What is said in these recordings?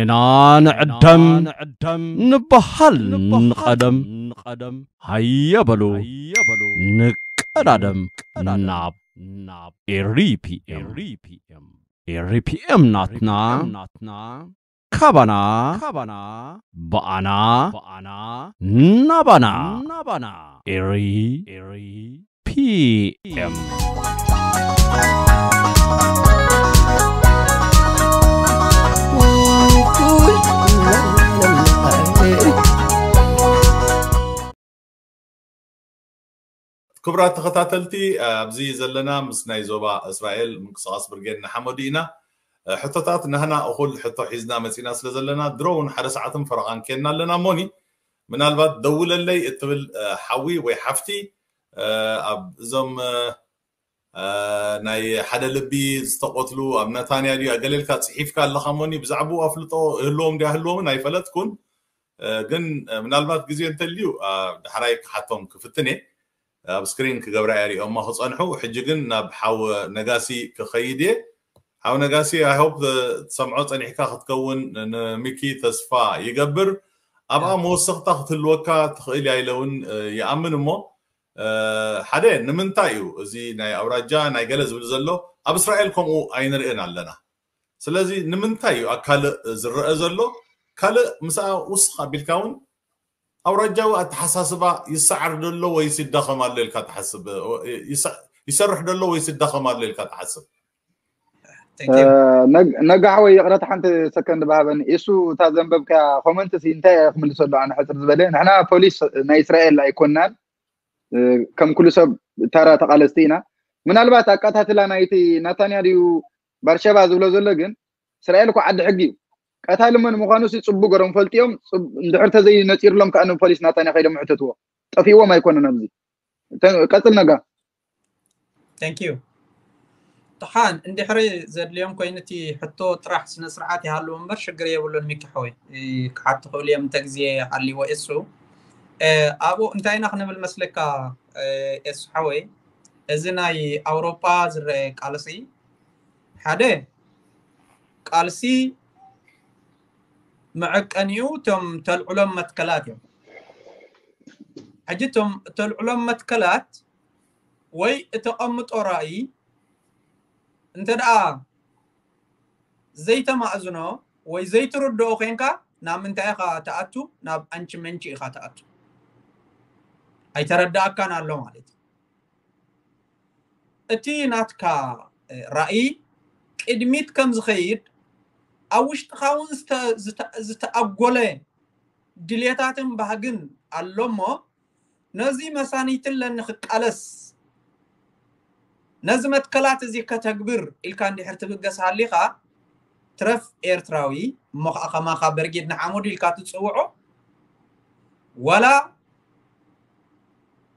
ንዕደም ንበሃል ንቐደም። ሃየ በሉ ንቀዳደም ናብ ኤሪ ፒ ኤም። ኤሪ ፒ ኤም ናትና፣ ካባና፣ ብኣና፣ ናባና። ኤሪ ፒ ኤም። ክቡራት ተኸታተልቲ፣ ኣብዚ ዘለና ምስ ናይ ዞባ እስራኤል ምንቅስቓስ ብርጌድ ንሓመዱ ኢና። ሕቶታት ናህና እኹል ሕቶ ሒዝና መፂና ስለ ዘለና፣ ድሮ እውን ሓደ ሰዓትን ፈረቓን ኬንና ኣለና። ሞኒ፣ ምናልባት ደውለለይ እትብል ሓዊ ወይ ሓፍቲ፣ ኣብ እዞም ናይ ሓደ ልቢ ዝተቆትሉ ኣብ ነታንያ ድዩ ኣገለልካ ጽሒፍካ ኣለኻ ሞኒ? ብዛዕባኡ ኣፍልጦ እህልዎም ድዩ ኣህልዎምን ኣይፈለጥኩን። ግን ምናልባት ግዜ እንተልዩ፣ ዳሕራይ ክሓቶም ክፍትን እየ። ኣብ ስክሪን ክገብራ እየ ሪኦማ ክጸንሑ። ሕጂ ግን ናብ ሓው ነጋሲ ክኸይድ እየ። ሓው ነጋሲ፣ I hope ትሰምዖ ጸኒሕካ ክትከውን ንሚኪ ተስፋ ይገብር። ኣብኣ መወሰኽታ ክትህልወካ ትኽእል እያ ኢለ እውን ይኣምን። እሞ ሓደ፣ ንምንታይ እዩ እዚ ናይ ኣውራጃ ናይ ገለ ዝብል ዘሎ? ኣብ እስራኤል ከምኡ ኣይንርእን ኣለና። ስለዚ ንምንታይ እዩ ኣብ ካልእ ዝረአ ዘሎ? ካልእ ምስኣ ውስኽ ኣቢልካ እውን ኣውራጃዊ ኣተሓሳስባ ይሰዓር ደሎ ወይስ ይዳኸም ኣሎ ኢልካ ትሓስብ? ይሰርሕ ደሎ ወይስ ይዳኸም ኣሎ ኢልካ ትሓስብ? ነጋሕ ወይ ይቕረታ ሓንቲ ሰከንድ ባሃበኒ። እሱ እታ ዘንበብካ ኮመንት ሲ እንታይ ክምልሰሉ ኣነ ሕፅር ዝበለ፣ ንሕና ፖሊስ ናይ እስራኤል ኣይኮናን፣ ከም ኩሉ ሰብ ተራ ተቓለስቲ ኢና። ምናልባት ኣቃታትላ ናይቲ ናታንያ ድዩ ባርሸባ ዝብሎ ዘሎ፣ ግን እስራኤል እኮ ዓዲ ሕጊ እዩ። ቀታሊ መን ምዃኑ ሲ ፅቡቅ ገሮም ፈልጥዮም። እንድሕር ተዘይ ነፂርሎም ከዓ ንፖሊስ ናታንያ ከይዶም ሕተትዎ። ጠፊእዎም ኣይኮነን ኣብዚ። ቀፅል ነጋ። Thank you። ተሓን እንድሕሪ ዘድልዮም ኮይኑ እቲ ሕቶ ጥራሕ ስነ ስርዓት ይሃልዎ እምበር ሽግር የብሉን። ሚኪ ሓወይ ክሓቱ ክእሉ እዮም እንተ ግዜ ሃልይዎ። እሱ ኣብኡ እንታይ ኢና ክንብል መስለካ? እሱ ሓወይ እዚ ናይ ኣውሮፓ ዝረአ ቃልሲ ሓደ ቃልሲ መዐቀኒኡ እቶም ተልዕሎም መትከላት እዮም። ሕጂ እቶም ተልዕሎም መትከላት ወይ እተቐምጦ ራእይ እንተ ደኣ ዘይተማእዝኖ ወይ ዘይትርድኦ ኮንካ ናብ ምንታይ ኢኻ ትኣቱ? ናብ ኣንቺ መንቺ ኢኻ ትኣቱ። ኣይተረዳእካን ኣሎ ማለት እዩ። እቲ ናትካ ራእይ ቅድሚት ከም ዝኸይድ ኣብ ውሽጥኻ እውን ዝተኣጎለ ድልየታትን ባህግን ኣሎ እሞ ነዚ መሳኒትለኒ ክቃለስ ነዚ መትከላት እዚ ከተግብር ኢልካ እንድሕር ትብገስ ሃሊኻ ትረፍ ኤርትራዊ እሞ ከዓ ከማኻ በርጌድ ንሓመዱ ኢልካ ትፅውዖ ዋላ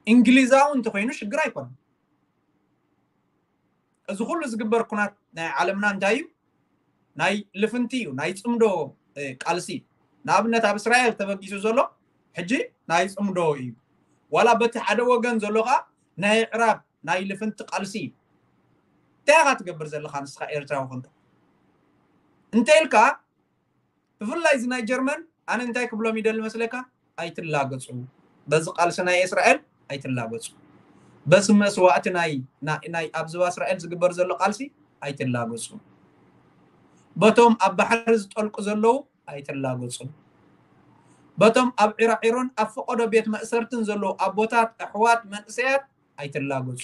እንግሊዛዊ እንተኮይኑ ሽግር ኣይኮነን። እዚ ኩሉ ዝግበር ኩናት ናይ ዓለምና እንታይ እዩ? ናይ ልፍንቲ እዩ፣ ናይ ፅምዶ ቃልሲ። ንኣብነት ኣብ እስራኤል ተበጊሱ ዘሎ ሕጂ ናይ ፅምዶ እዩ። ዋላ በቲ ሓደ ወገን ዘሎ ከዓ ናይ ዕራብ ናይ ልፍንቲ ቃልሲ እዩ። እንታይ ኢኻ ትገብር ዘለኻ ንስኻ ኤርትራዊ ኮንካ? እንተ ኢልካ ብፍላይ እዚ ናይ ጀርመን ኣነ እንታይ ክብሎም ይደሊ መስለካ? ኣይትላገፁ። በዚ ቃልሲ ናይ እስራኤል ኣይትላገፁ። በዚ መስዋእቲ ናይ ናይ ኣብ ዞባ እስራኤል ዝግበር ዘሎ ቃልሲ ኣይትላገፁ። በቶም ኣብ ባሕሪ ዝጠልቁ ዘለዉ ኣይትላገፁ። በቶም ኣብ ዒራዒሮን ኣብ ፈቐዶ ቤት መእሰርትን ዘለዉ ኣቦታት፣ ኣሕዋት፣ መንእሰያት ኣይትላገፁ።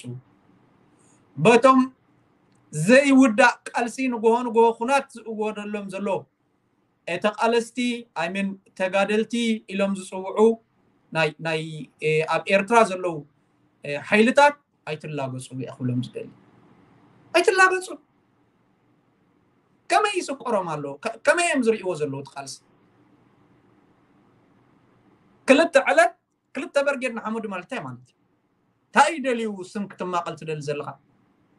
በቶም ዘይውዳእ ቃልሲ ንግሆ ንግሆ ኩናት ዝእወደሎም ዘሎ ተቓለስቲ ኣይምን ተጋደልቲ ኢሎም ዝፅውዑ ናይ ናይ ኣብ ኤርትራ ዘለዉ ሓይልታት ኣይትላገፁ እየ ክብሎም ዝደሊ። ኣይትላገፁ። ከመይ ይስቆሮም ኣሎ? ከመይ እዮም ዝርእይዎ ዘለዉ እቲ ቃልሲ? ክልተ ዕለት ክልተ በርጌድ ንሓመዱ ማለት እንታይ ማለት እዩ? እንታይ እዩ ደልዩ ስም ክትማቐል ትደሊ ዘለኻ?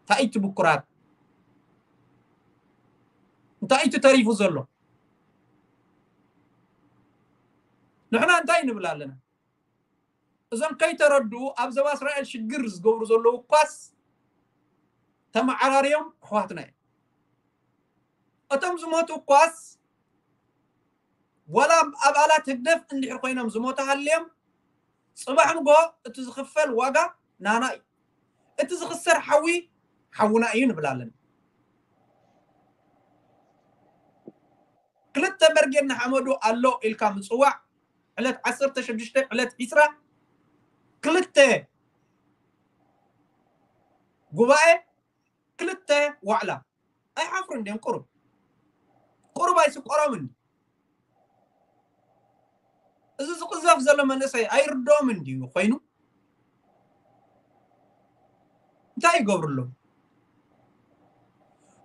እንታይ እዩ እቲ ብኩራት? እንታይ እዩ ተሪፉ ዘሎ? ንሕና እንታይ ንብል ኣለና? እዞም ከይተረድኡ ኣብ ዘባ እስራኤል ሽግር ዝገብሩ ዘለዉ እኳስ ተመዓራርዮም ኣሕዋትና እዮም። እቶም ዝሞቱ እኳስ ዋላ ኣባላት ህግደፍ እንድሕር ኮይኖም ዝሞቱ ሃልዮም፣ ጽባሕ ንጎ እቲ ዝኽፈል ዋጋ ናና እዩ። እቲ ዝኽሰር ሓዊ ሓውና እዩ ንብል ኣለና። ክልተ በርጌድ ንሓመዱ ኣሎ ኢልካ ምጽዋዕ፣ ዕለት ዓሰርተ ሽዱሽተ፣ ዕለት ዒስራ፣ ክልተ ጉባኤ፣ ክልተ ዋዕላ። ኣይሓፍሩን ድዮም? ቁሩብ ቁሩብ ኣይስቆሮምን? እዚ ዝቕዘፍ ዘሎ መንእሰይ ኣይርድኦምን ድዩ ኮይኑ? እንታይ ይገብሩ ኣለዉ?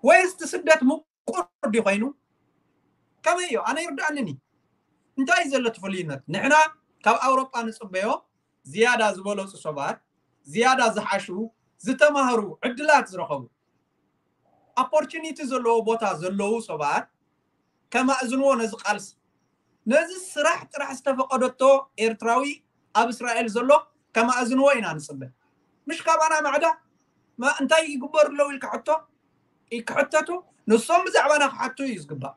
ወይስ እቲ ስደት ምቁር ድዩ ኮይኑ? ከመይ እዩ? ኣነ ይርድኣንን እዩ። እንታይ እዩ ዘሎ እቲ ፍሉይነት? ንሕና ካብ ኣውሮጳ ንጽበዮ ዝያዳ ዝበለጹ ሰባት፣ ዝያዳ ዝሓሹ፣ ዝተማህሩ፣ ዕድላት ዝረኸቡ፣ ኦፖርቹኒቲ ዘለዎ ቦታ ዘለዉ ሰባት ከማእዝንዎ ነዚ ቃልሲ። ነዚ ስራሕ ጥራሕ ዝተፈቐደቶ ኤርትራዊ ኣብ እስራኤል ዘሎ ከማእዝንዎ ኢና ንጽበ። ምሽ ካባና ማዕዳ ማ እንታይ ይግበሩ ኣለዉ ኢልካ ሕቶ ክሕተቱ፣ ንሶም ብዛዕባና ክሓቱ እዩ ዝግባእ።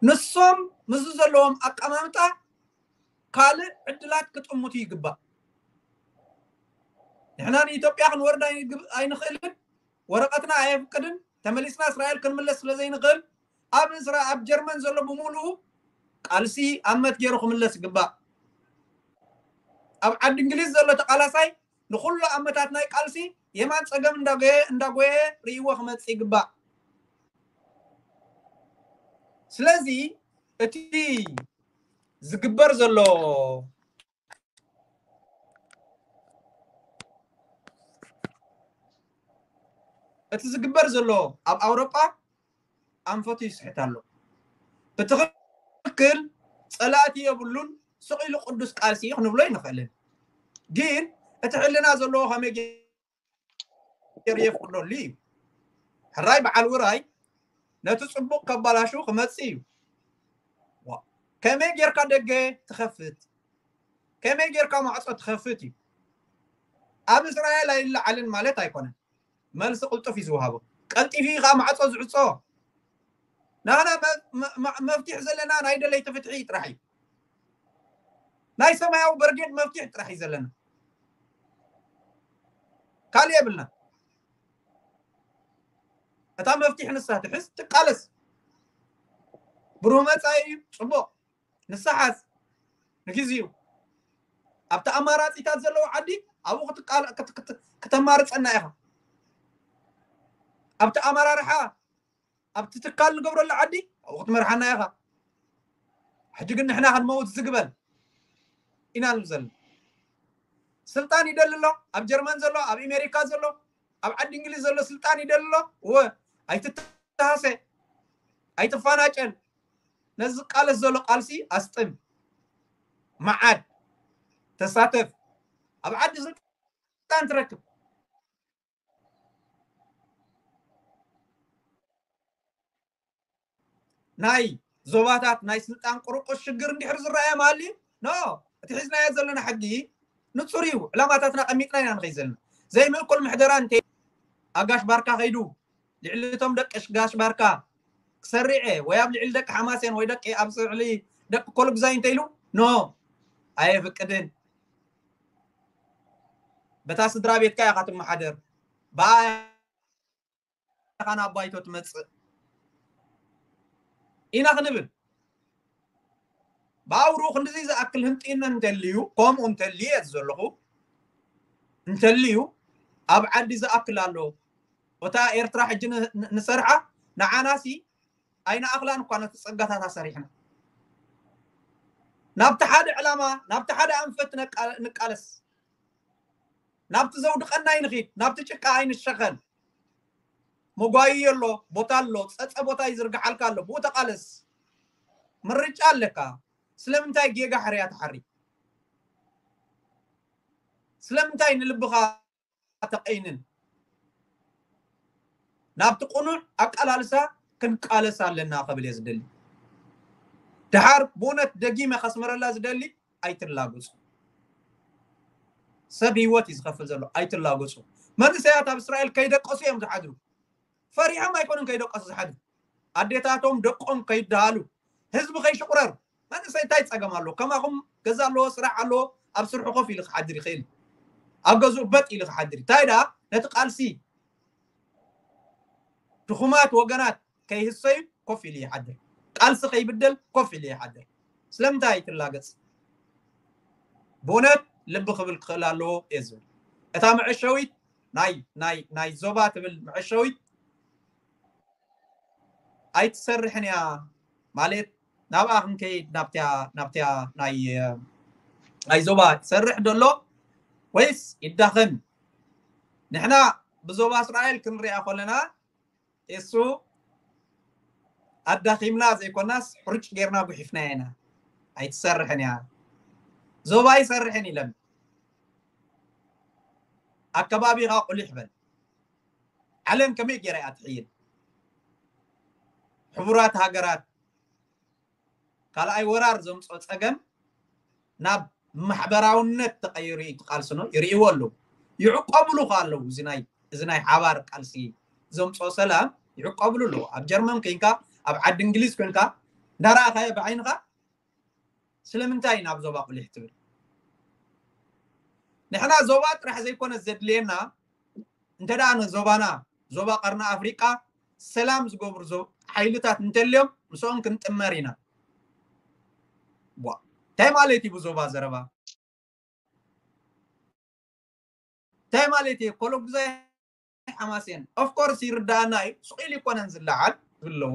ንሶም ምስዚ ዘለዎም ኣቀማምጣ ካልእ ዕድላት ክጥምቱ ይግባእ። ንሕና ንኢትዮጵያ ክንወርድ ኣይንግብ-፣ ኣይንኽእልን፣ ወረቐትና ኣየፍቅድን፣ ተመሊስና እስራኤል ክንምለስ ስለ ዘይንኽእል፣ ኣብ እስራ-፣ ኣብ ጀርመን ዘሎ ብምሉኡ ቃልሲ ኣብ መት ገይሩ ክምለስ ይግባእ። ኣብ ዓዲ እንግሊዝ ዘሎ ተቃላሳይ ንኹሉ ኣመታት ናይ ቃልሲ የማን ጸገም እንዳጎየ፣ እንዳጎየ ርእይዎ ክመጽእ ይግባእ። ስለዚ እቲ ዝግበር ዘሎ፣ እቲ ዝግበር ዘሎ ኣብ ኣውሮጳ ኣንፈቱ ይስሕት ኣሎ። ብትኽክል ጸላእቲ የብሉን፣ ስቕ ኢሉ ቅዱስ ቃልሲ እዩ ክንብሎ ኣይንኽእልን። ግን እቲ ሕልና ዘለዎ ከመይ ገይሩ የፍቅደሉ እዩ? ሕራይ በዓል ውራይ ነቲ ጽቡቕ ከባላሹ ክመጽእ እዩ። ዋ፣ ከመይ ጌርካ ደገ ትኸፍት? ከመይ ጌርካ ማዕጾ ትኸፍት እዩ። ኣብ እስራኤል ኣይለዓልን ማለት ኣይኮነን። መልሲ ቅልጡፍ እዩ ዝወሃቦ። ቀልጢፉ እዩ ከዓ ማዕጾ ዝዕጾ። ንሕና መ-፣ መ-፣ መ-፣ መፍትሒ ዘለና ናይ ደለይቲ ፍትሒ ጥራሕ እዩ። ናይ ሰማያዊ በርጌድ መፍትሒ ጥራሕ እዩ ዘለና። ካልእ የብልና። እታ መፍትሒ ንሳ ትሕዝ፣ ትቃለስ። ብሩህ መጻኢ እዩ፣ ጽቡቕ። ንሳ ሓዝ፣ ንግዚኡ። ኣብቲ ኣማራጺታት ዘለዎ ዓዲ ኣብኡ ክትቃል-፣ ክት-፣ ክት-፣ ክተማርጸና ኢኻ። ኣብቲ ኣመራርሓ፣ ኣብቲ ትካል ንገብረሉ ዓዲ ኣብኡ ክትመርሓና ኢኻ። ሕጂ ግን ንሕና ክንመውት ዝግበል ኢና ንብል ዘለና። ስልጣን ይደሊ ኣሎ፣ ኣብ ጀርመን ዘሎ፣ ኣብ ኣሜሪካ ዘሎ፣ ኣብ ዓዲ እንግሊዝ ዘሎ ስልጣን ይደሊ ኣሎ። እወ፣ ኣይትተሃሰ፣ ኣይትፈናጨል። ነዚ ዝቃለስ ዘሎ ቃልሲ ኣስጥም፣ መዓድ፣ ተሳተፍ። ኣብ ዓዲ ስልጣን ትረክብ። ናይ ዞባታት ናይ ስልጣን ቁርቁስ ሽግር እንድሕር ዝረኣየ ማሊ፣ ኖ፣ እቲ ሒዝናዮ ዘለና ሕጊ ንጹር እዩ። ዕላማታትና ቀሚጥና ኢና ንኸይድ ዘለና። ዘይምእኩል ምሕደራ እንተ ኣጋሽ ባርካ ከይዱ ልዕሊ እቶም ደቂ ጋሽ ባርካ ክሰርዐ ወይ ኣብ ልዕሊ ደቂ ሓማሴን ወይ ደቂ ኣብ ልዕሊ ደቂ ኮልጉዛይ እንተ ኢሉ፣ ኖ፣ ኣየፍቅድን። በታ ስድራ ቤትካ ኢኻ ትመሓደር። ብኣ ኢኻ ናብ ባይቶ ትመጽእ ኢና ክንብል። ብኣውርኡ ክንድዚ ዝኣክል ህንጥይነት እንተልዩ፣ ከምኡ እንተልዩ እየ ዘለኹ፣ እንተልዩ ኣብ ዓዲ ዝኣክል ኣሎ። እታ ኤርትራ ሕጂ ን-፣ ን-፣ ንሰርዓ ንዓናሲ ኣይንኣኽላን እኳ ነቲ ጸጋታት ኣሰሪሕና። ናብቲ ሓደ ዕላማ፣ ናብቲ ሓደ ኣንፈት ነቃ-፣ ንቃለስ። ናብቲ ዘውድቐና ኣይንኺድ፣ ናብቲ ጭቃ ኣይንሸኸል። መጓይዮ ኣሎ፣ ቦታ ኣሎ፣ ጸጸ ቦታ ይዝርግሓልካ ኣሎ፣ ብኡ ተቃለስ። ምርጫ ኣለካ። ስለምንታይ ጌጋ ሕርያ ትሓሪ? ስለምንታይ ንልብኻ ተቀይንን? ናብቲ ቅኑዕ ኣቃላልሳ ክንቃለስ ኣለና ክብል እየ ዝደሊ። ደሓር ብእውነት ደጊመ ከስምረላ ዝደሊ፣ ኣይትላገጹ። ሰብ ህይወት እዩ ዝኸፍል ዘሎ፣ ኣይትላገጹ። መንእሰያት ኣብ እስራኤል ከይደቀሱ እዮም ዝሓድሩ። ፈሪሖም ኣይኮኑን ከይደቀሱ ዝሓድሩ። ኣዴታቶም ደቆም ከይደሃሉ፣ ህዝቢ ከይሽቑረር። መንእሰይ እንታይ ጸገም ኣለዎ? ከማኹም ገዛ ኣለዎ፣ ስራሕ ኣለዎ፣ ኣብ ስርሑ ኮፍ ኢሉ ክሓድር ይኽእል። ኣብ ገዝኡ በጥ ኢሉ ክሓድር። እንታይ ደኣ ነቲ ቃልሲ ድኹማት ወገናት ከይህሰዩ ኮፍ ኢሉ ይሓድር። ቃልሲ ከይብደል ኮፍ ኢሉ ይሓድር። ስለምንታይ ኣይትላገጽ? ብእውነት ልቢ ክብል ክኽእል ኣለዎ እየ ዝብል። እታ መዐሸዊት ናይ ናይ ናይ ዞባ ትብል መዐሸዊት ኣይትሰርሕን እያ ማለት ናብኣ ክንከይድ ናብትያ ናብትያ ናይ ናይ ዞባ ትሰርሕ ደሎ ወይስ ይዳኸም? ንሕና ብዞባ እስራኤል ክንሪኣ ከለና እሱ ኣዳኺምና ዘይኮናስ ሕሩጭ ጌርና ጉሒፍና ኢና። ኣይትሰርሕን እያ። ዞባ ይሰርሕን ኢለን ኣከባቢኻ ቁሊሕ በል። ዓለም ከመይ ገይራ እያ ትሕይል? ሕቡራት ሃገራት ካልኣይ ወራር ዘምፅኦ ፀገም ናብ ማሕበራውነት ተቐይሩ እዩ ትቃልስኖ ይርእይዎ ኣለዉ። ይዕቆብሉ ከ ኣለዉ እዚ ናይ እዚ ናይ ሓባር ቃልሲ ዘምፅኦ ሰላም ይዕቆብሉ ኣለዉ። ኣብ ጀርመን ኮይንካ ኣብ ዓዲ እንግሊዝ ኮይንካ እንዳረኣኻዮ ብዓይንኻ ስለምንታይ ናብ ዞባ ቁሊሕ ትብል? ንሕና ዞባ ጥራሕ ዘይኮነ ዘድልየና እንተ ደኣ ንዞባና ዞባ ቀርኒ ኣፍሪቃ ሰላም ዝገብሩ ሓይልታት እንተልዮም ምስኦም ክንጥመር ኢና። እንታይ ማለት እዩ ብዞባ ዘረባ? እንታይ ማለት እዩ? ኮሎጉዛይ ሓማሴን ኦፍኮርስ ይርዳኣና እዩ። ስቕ ኢሉ ይኮነን ዝለዓል ዝብለዎ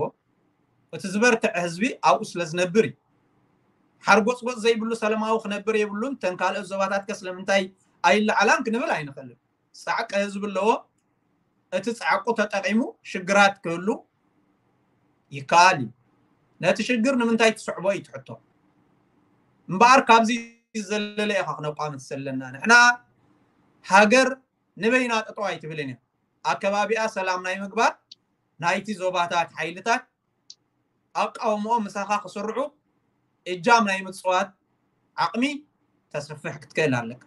እቲ ዝበርትዐ ህዝቢ ኣብኡ ስለ ዝነብር እዩ። ሓርጎፅጎፅ ዘይብሉ ሰላማዊ ክነብር የብሉን። ተን ካልኦት ዞባታት ከ ስለምንታይ ኣይለዓላን ክንብል ኣይንኽእልን። ፃዕቂ ህዝቢ ኣለዎ። እቲ ፃዕቁ ተጠቂሙ ሽግራት ክህሉ ይከኣል እዩ። ነቲ ሽግር ንምንታይ ትስዕቦ እዩ ትሕቶ። እምበኣር ካብዚ ዘለለ ኢኻ ክነቋምት ዘለና። ንሕና ሃገር ንበይና ጠጠው ኣይትብልን እያ። ኣከባቢኣ ሰላም ናይ ምግባር ናይቲ ዞባታት ሓይልታት ኣቃውምኦም ምሳኻ ክስርዑ እጃም ናይ ምፅዋት ዓቕሚ ተስፍሕ ክትክእል ኣለካ።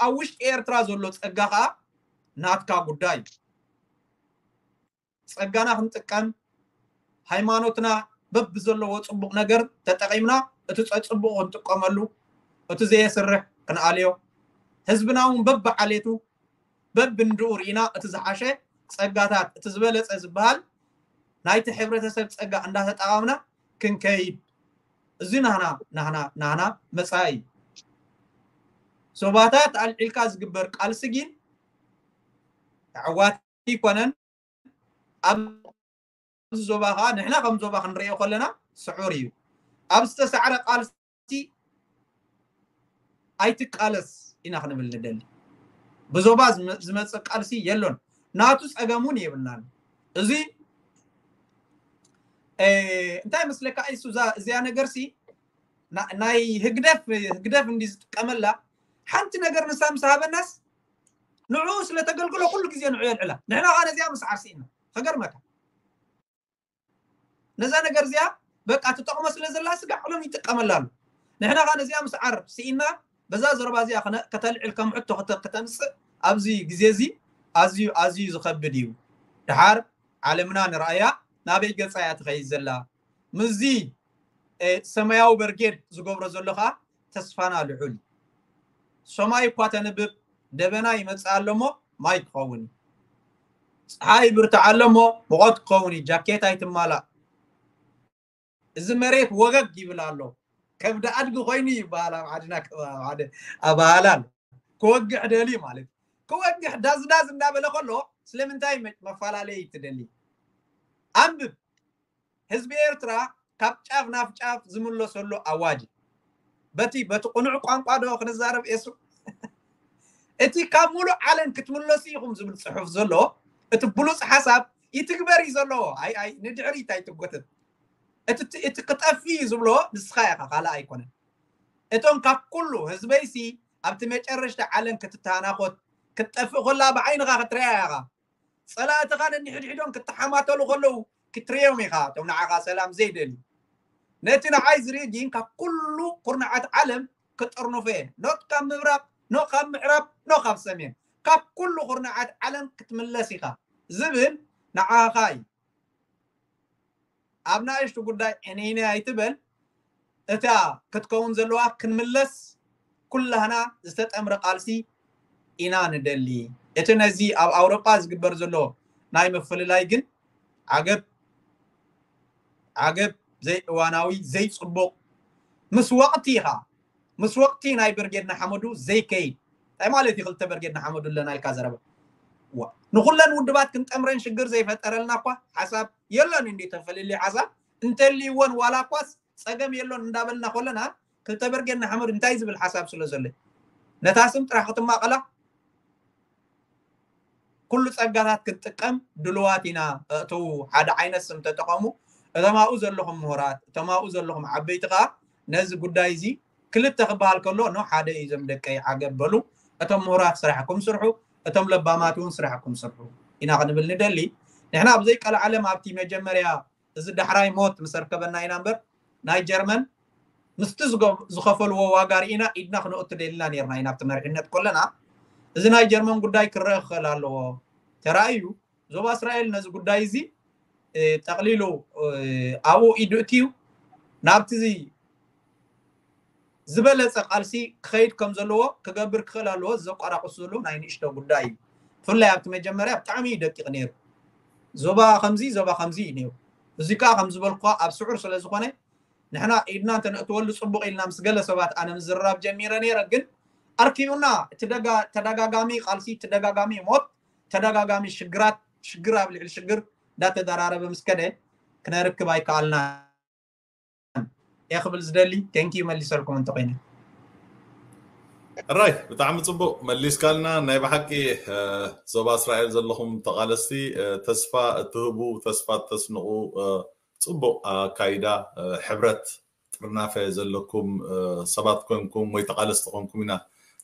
ኣብ ውሽጢ ኤርትራ ዘሎ ፀጋ ከዓ ናትካ ጉዳይ እዩ። ፀጋና ክንጥቀም ሃይማኖትና በብዘለዎ ፅቡቕ ነገር ተጠቒምና እቲ ፀፅቡቕ ክንጥቀመሉ እቲ ዘየስርሕ ክንኣልዮ ህዝብና እውን በብዓሌቱ በብንድኡ ርኢና እቲ ዝሓሸ ፀጋታት እቲ ዝበለፀ ዝበሃል ናይቲ ሕብረተሰብ ፀጋ እንዳተጠቐምና ክንከይድ እዚ ናህና ናህና ናህና መፃኢ እዩ። ዞባታት ኣልዒልካ ዝግበር ቃልሲ ግን ኣዕዋት ኣይኮነን። ኣብዚ ዞባ ከዓ ንሕና ከም ዞባ ክንሪኦ ከለና ስዑር እዩ። ኣብ ዝተሳዕረ ቃልሲ ኣይትቃለስ ኢና ክንብል ንደሊ። ብዞባ ዝመፅእ ቃልሲ የሎን። ናቱ ፀገም እውን የብልናን። እዚ እንታይ መስለካ እሱ እዚያ ነገር ሲ ናይ ህግደፍ ህግደፍ እንዲ ዝጥቀመላ ሓንቲ ነገር ንሳ ምስ ሃበናስ ንዕኡ ስለተገልግሎ ኩሉ ግዜ ንዑ የልዕላ። ንሕና ከዓ ነዚኣ ምስዓር ስኢና። ከገርመካ ነዛ ነገር እዚኣ በቃ ትጠቕሞ ስለ ዘላ ስጋዕ ሎም ይጥቀመላ ኣሎ። ንሕና ከዓ ነዚኣ ምስዓር ስኢና በዛ ዘረባ እዚኣ ከተልዕል ከም ሕቶ ከተምፅእ ኣብዚ ግዜ እዚ ኣዝዩ ኣዝዩ ዝኸብድ እዩ። ድሓር ዓለምና ንርኣያ ናበይ ገፃ እያ ትኸይድ ዘላ ምስዚ ሰማያዊ በርጌድ ዝገብሮ ዘሎ ከዓ ተስፋና ልዑል። ሰማይ እኳ ተንብብ ደበና ይመፅእ ኣሎ እሞ ማይ ክኸውን እዩ። ፀሓይ ይብርትዕ ኣሎ እሞ ሙቐት ክኸውን እዩ። ጃኬት ኣይትማላእ። እዚ መሬት ወገግ ይብል ኣሎ። ከብዲ ኣድጊ ኮይኑ ይበሃል ኣብ ዓድና ከባቢ ሓደ ኣበሃህላ ኣሎ። ክወግሕ ደልዩ ማለት እዩ። ክወግሕ ዳዝዳዝ እንዳበለ ከሎ ስለምንታይ መፈላለይ ትደሊ? ኣንብብ። ህዝቢ ኤርትራ ካብ ጫፍ ናብ ጫፍ ዝምለሰሉ ኣዋጅ በቲ በቲ ቁኑዕ ቋንቋ ዶ ክንዛረብ ኤሱ እቲ ካብ ሙሉእ ዓለም ክትምለሱ ኢኹም ዝብል ፅሑፍ ዘሎ እቲ ብሉፅ ሓሳብ ይትግበር እዩ ዘለዎ። ኣይ ኣይ ንድሕሪት ኣይትጎተት። እቲ ክጠፊ እዩ ዝብሎ ንስኻ ኢኻ ካልእ ኣይኮነን። እቶም ካብ ኩሉ ህዝበይሲ ኣብቲ መጨረሽታ ዓለም ክትተናኾት ክትጠፍእ ኮላ ብዓይንኻ ክትሪያ ኢኻ። ፀላእትኻ ነንሕድሕዶም ክትሓማተሉ ከለዉ ክትሪኦም ኢኻ እቶም ንዓኻ ሰላም ዘይደልዩ። ነቲ ንዓይ ዝርኢ ግን ካብ ኩሉ ኩርናዓት ዓለም ክጥርንፎ እየ። ኖት ካብ ምብራቕ ኖ ካብ ምዕራብ ኖ ካብ ሰሜን ካብ ኩሉ ኩርናዓት ዓለም ክትምለስ ኢኻ ዝብል ንዓኻ እዩ። ኣብ ናእሽቱ ጉዳይ ዕንይንይ ኣይትበል። እታ ክትከውን ዘለዋ ክንምለስ ኩላህና ዝተጠምረ ቃልሲ ኢና ንደሊ። እቲ ነዚ ኣብ ኣውሮጳ ዝግበር ዘሎ ናይ ምፍልላይ ግን ዓገብ ዓገብ ዘይእዋናዊ ዘይፅቡቕ ምስ ወቕቲ ኢኻ ምስ ወቕቲ ናይ ብርጌድ ንሓመዱ ዘይከይድ እንታይ ማለት እዩ? ክልተ ብርጌድ ንሓመዱ ኣለና ኢልካ ዘረባ ንኩለን ውድባት ክንጠምረን ሽግር ዘይፈጠረልና እኳ ሓሳብ የሎን እንዲ ተፈልልዩ ሓሳብ እንተልይወን ዋላ እኳስ ፀገም የሎን እንዳበልና ከለና ክልተ ብርጌድ ንሓመዱ እንታይ ዝብል ሓሳብ ስለ ዘሎ ነታ ስም ጥራሕ ክትማቐላ ኩሉ ፀጋታት ክንጥቀም ድልዋት ኢና። እእተው ሓደ ዓይነት ስም ተጠቐሙ። እቶም ኣብኡ ዘለኹም ምሁራት እቶም ኣብኡ ዘለኹም ዓበይቲ ከዓ ነዚ ጉዳይ እዚ ክልተ ክበሃል ከሎ ኖ ሓደ እዩ። እዞም ደቀይ ዓገብ በሉ። እቶም ምሁራት ስራሕኩም ስርሑ፣ እቶም ለባማት እውን ስራሕኩም ስርሑ ኢና ክንብል ንደሊ። ንሕና ኣብ ዘይቀልዓለም ኣብቲ መጀመርያ እዚ ዳሕራይ ሞት ምስ ኣርከበና ኢና እምበር ናይ ጀርመን ምስቲ ዝገ- ዝኸፈልዎ ዋጋ ርኢና ኢድና ክነእቱ ደሊና ነርና ኢና ኣብቲ መሪሕነት ከለና። እዚ ናይ ጀርመን ጉዳይ ክረአ ክኽእል ኣለዎ። ተራእዩ ዞባ እስራኤል ነዚ ጉዳይ እዚ ጠቕሊሉ ኣብኡ ኢዱ እትዩ ናብቲ ዝበለፀ ቃልሲ ክኸይድ ከም ዘለዎ ክገብር ክኽእል ኣለዎ። ዘቋራቁስ ዘሎ ናይ ንእሽቶ ጉዳይ እዩ። ብፍላይ ኣብቲ መጀመርያ ብጣዕሚ እዩ ደቂቕ ነይሩ። ዞባ ከምዚ ዞባ ከምዚ እዩ ነይሩ። እዚ ከዓ ከም ዝበልኩ ኣብ ስዑር ስለ ዝኾነ ንሕና ኢድና እንተነእትወሉ ፅቡቕ ኢልና ምስ ገለ ሰባት ኣነ ምዝርራብ ጀሚረ ነይረ። ግን ኣርኪቡና እቲ ተደጋጋሚ ቃልሲ፣ ተደጋጋሚ ሞት፣ ተደጋጋሚ ሽግራት፣ ሽግር ኣብ ልዕሊ ሽግር እንዳተደራረበ ምስ ከደ ክነርክብ ኣይከኣልና። እየ ክብል ዝደሊ። ቴንኪዩ መሊሰልኩም እንተኮይነ። ራይ ብጣዕሚ ፅቡቅ መሊስካልና። ናይ ብሓቂ ዞባ እስራኤል ዘለኹም ተቃለስቲ ተስፋ እትህቡ ተስፋ እተስንቁ ፅቡቅ ኣካይዳ ሕብረት ጥርናፈ ዘለኩም ሰባት ኮንኩም ወይ ተቃለስቲ ኮንኩም ኢና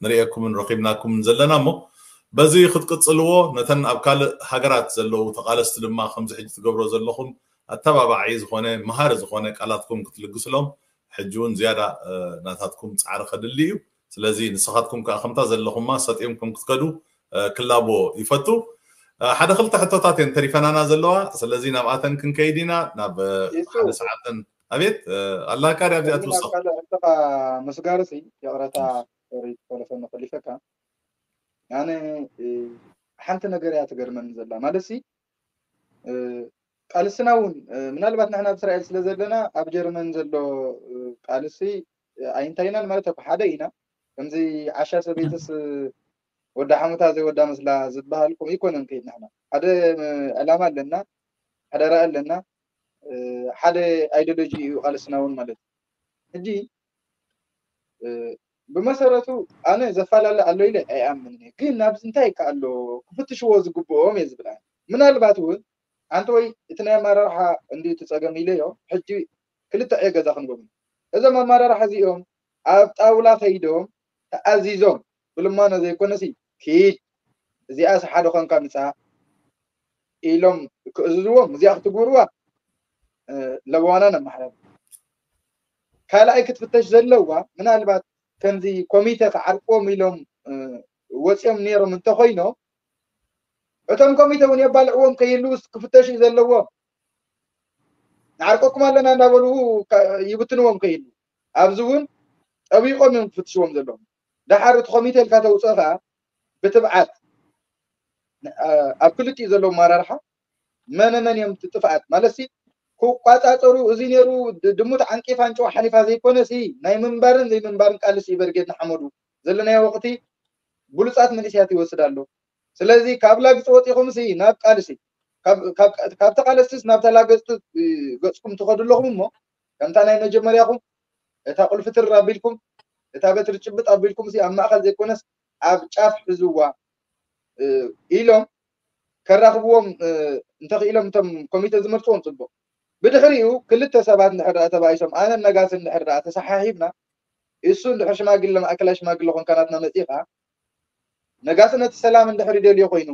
ንርእየኩምን ረኪብናኩምን ዘለና እሞ በዚ ክትቅፅልዎ ነተን ኣብ ካልእ ሃገራት ዘለዉ ተቃለስቲ ድማ ከምዚ ሕጂ ትገብሮ ዘለኹም ኣተባባዒ ዝኾነ መሃሪ ዝኾነ ቃላትኩም ክትልግስሎም ሕጂ እውን ዝያዳ ናታትኩም ፃዕሪ ከድሊ እዩ። ስለዚ ንስኻትኩም ከዓ ከምታ ዘለኹማ ሰጢምኩም ክትከዱ ክላቦ ይፈቱ። ሓደ ክልተ ሕቶታት እየን ተሪፈናና ዘለዋ። ስለዚ ናብኣተን ክንከይድ ኢና ናብ ሓደ ሰዓተን። ኣቤት ኣላካ ዲኣ ኣብዚኣ ትውስኽ ምስጋርሲ ይቕረታ ሪት ተለፈን ክሊፈካ ኣነ ሓንቲ ነገር እያ ትገርመኒ ዘላ ማለት ሲ ቃልስና እውን ምናልባት ንሕና ኣብ እስራኤል ስለ ዘለና ኣብ ጀርመን ዘሎ ቃልሲ ኣይንታይናን ማለት ኣኮ ሓደ ኢና ከምዚ ዓሻ ሰበይትስ ወዲ ሓሙታ ዘይወዳ መስላ ዝበሃል ከምኡ ይኮነን ከይድ ንሕና ሓደ ዕላማ ኣለና ሓደ ራእ ኣለና ሓደ ኣይዲዮሎጂ እዩ ቃልስና እውን ማለት ሕጂ ብመሰረቱ ኣነ ዘፈላለ ኣሎ ኢለ ኣይኣምንን እየ ግን ናብዚ እንታይ ከ ኣሎ ክፍትሽዎ ዝግብኦም እየ ዝብል ኣነ ምናልባት እውን ሓንቲ ወይ እቲ ናይ ኣመራርሓ እንዲ እቲ ፀገም ኢለዮ ሕጂ ክልተ ዕዮ ገዛ ክንቦም እዞም ኣመራርሓ እዚኦም ኣብ ጣውላ ከይዶም ተኣዚዞም ብልማኖ ዘይኮነሲ ኪድ እዚኣስ ሓደ ኮንካ ምፃእ ኢሎም ክእዝዝዎም እዚኣ ክትግብርዋ ለዋና ነማሕረር ካልኣይ ክትፍተሽ ዘለዋ ምናልባት ከምዚ ኮሚተ ክዓርቅዎም ኢሎም ወፂኦም ነይሮም እንተኮይኖም እቶም ኮሚተ እውን የባልዕዎም ከይህልውስ ክፍተሽ እዩ ዘለዎም ንዓርቀኩም ኣለና እንዳበሉ ይብትንዎም ከይህሉ ኣብዚ እውን ጠቢቆም እዮም ክፍትሽዎም ዘለዎም ደሓር እቲ ኮሚተ ኢልካ ተውፅኦ ከዓ ብትብዓት ኣብ ክልቲኡ ዘለዉ ኣመራርሓ መነ መን እዮም እቲ ጥፍኣት ማለት ሲ ክቋፃፀሩ እዚ ነይሩ ድሙት ዓንቂፋ ኣንጭዋ ሓሊፋ ዘይኮነ ሲ ናይ ምንባርን ዘይምንባርን ቃልሲ እዩ በርጌድ ንሓመዱ ዘለናዮ ወቅቲ ብሉፃት መንእሰያት ይወስድ ኣሎ ስለዚ ካብ ላግፂ ወፂኹም ሲ ናብ ቃልሲ ካብ ተቃለስቲስ ናብ ተላገፅቲ ገፅኩም ትኸዱ ኣለኹም እሞ ከምታ ናይ መጀመርያኹም እታ ቁልፊ ትር ኣቢልኩም እታ በትሪ ጭብጥ ኣቢልኩም ሲ ኣብ ማእኸል ዘይኮነስ ኣብ ጫፍ ሕዝዋ ኢሎም ከራኽብዎም እንተኽኢሎም እቶም ኮሚተ ዝመርፅዎም ፅቡቅ ብድሕሪኡ ክልተ ሰባት እንድሕር ደኣ ተባኢሶም ኣነን ነጋስን እንድሕር ደኣ ተሰሓሒብና እሱ እንድሕር ሽማግለ ማእከላይ ሽማግለ ኮንካ ናትና መፂኻ ነጋሲ ነቲ ሰላም እንድሕር ይደልዮ ኮይኑ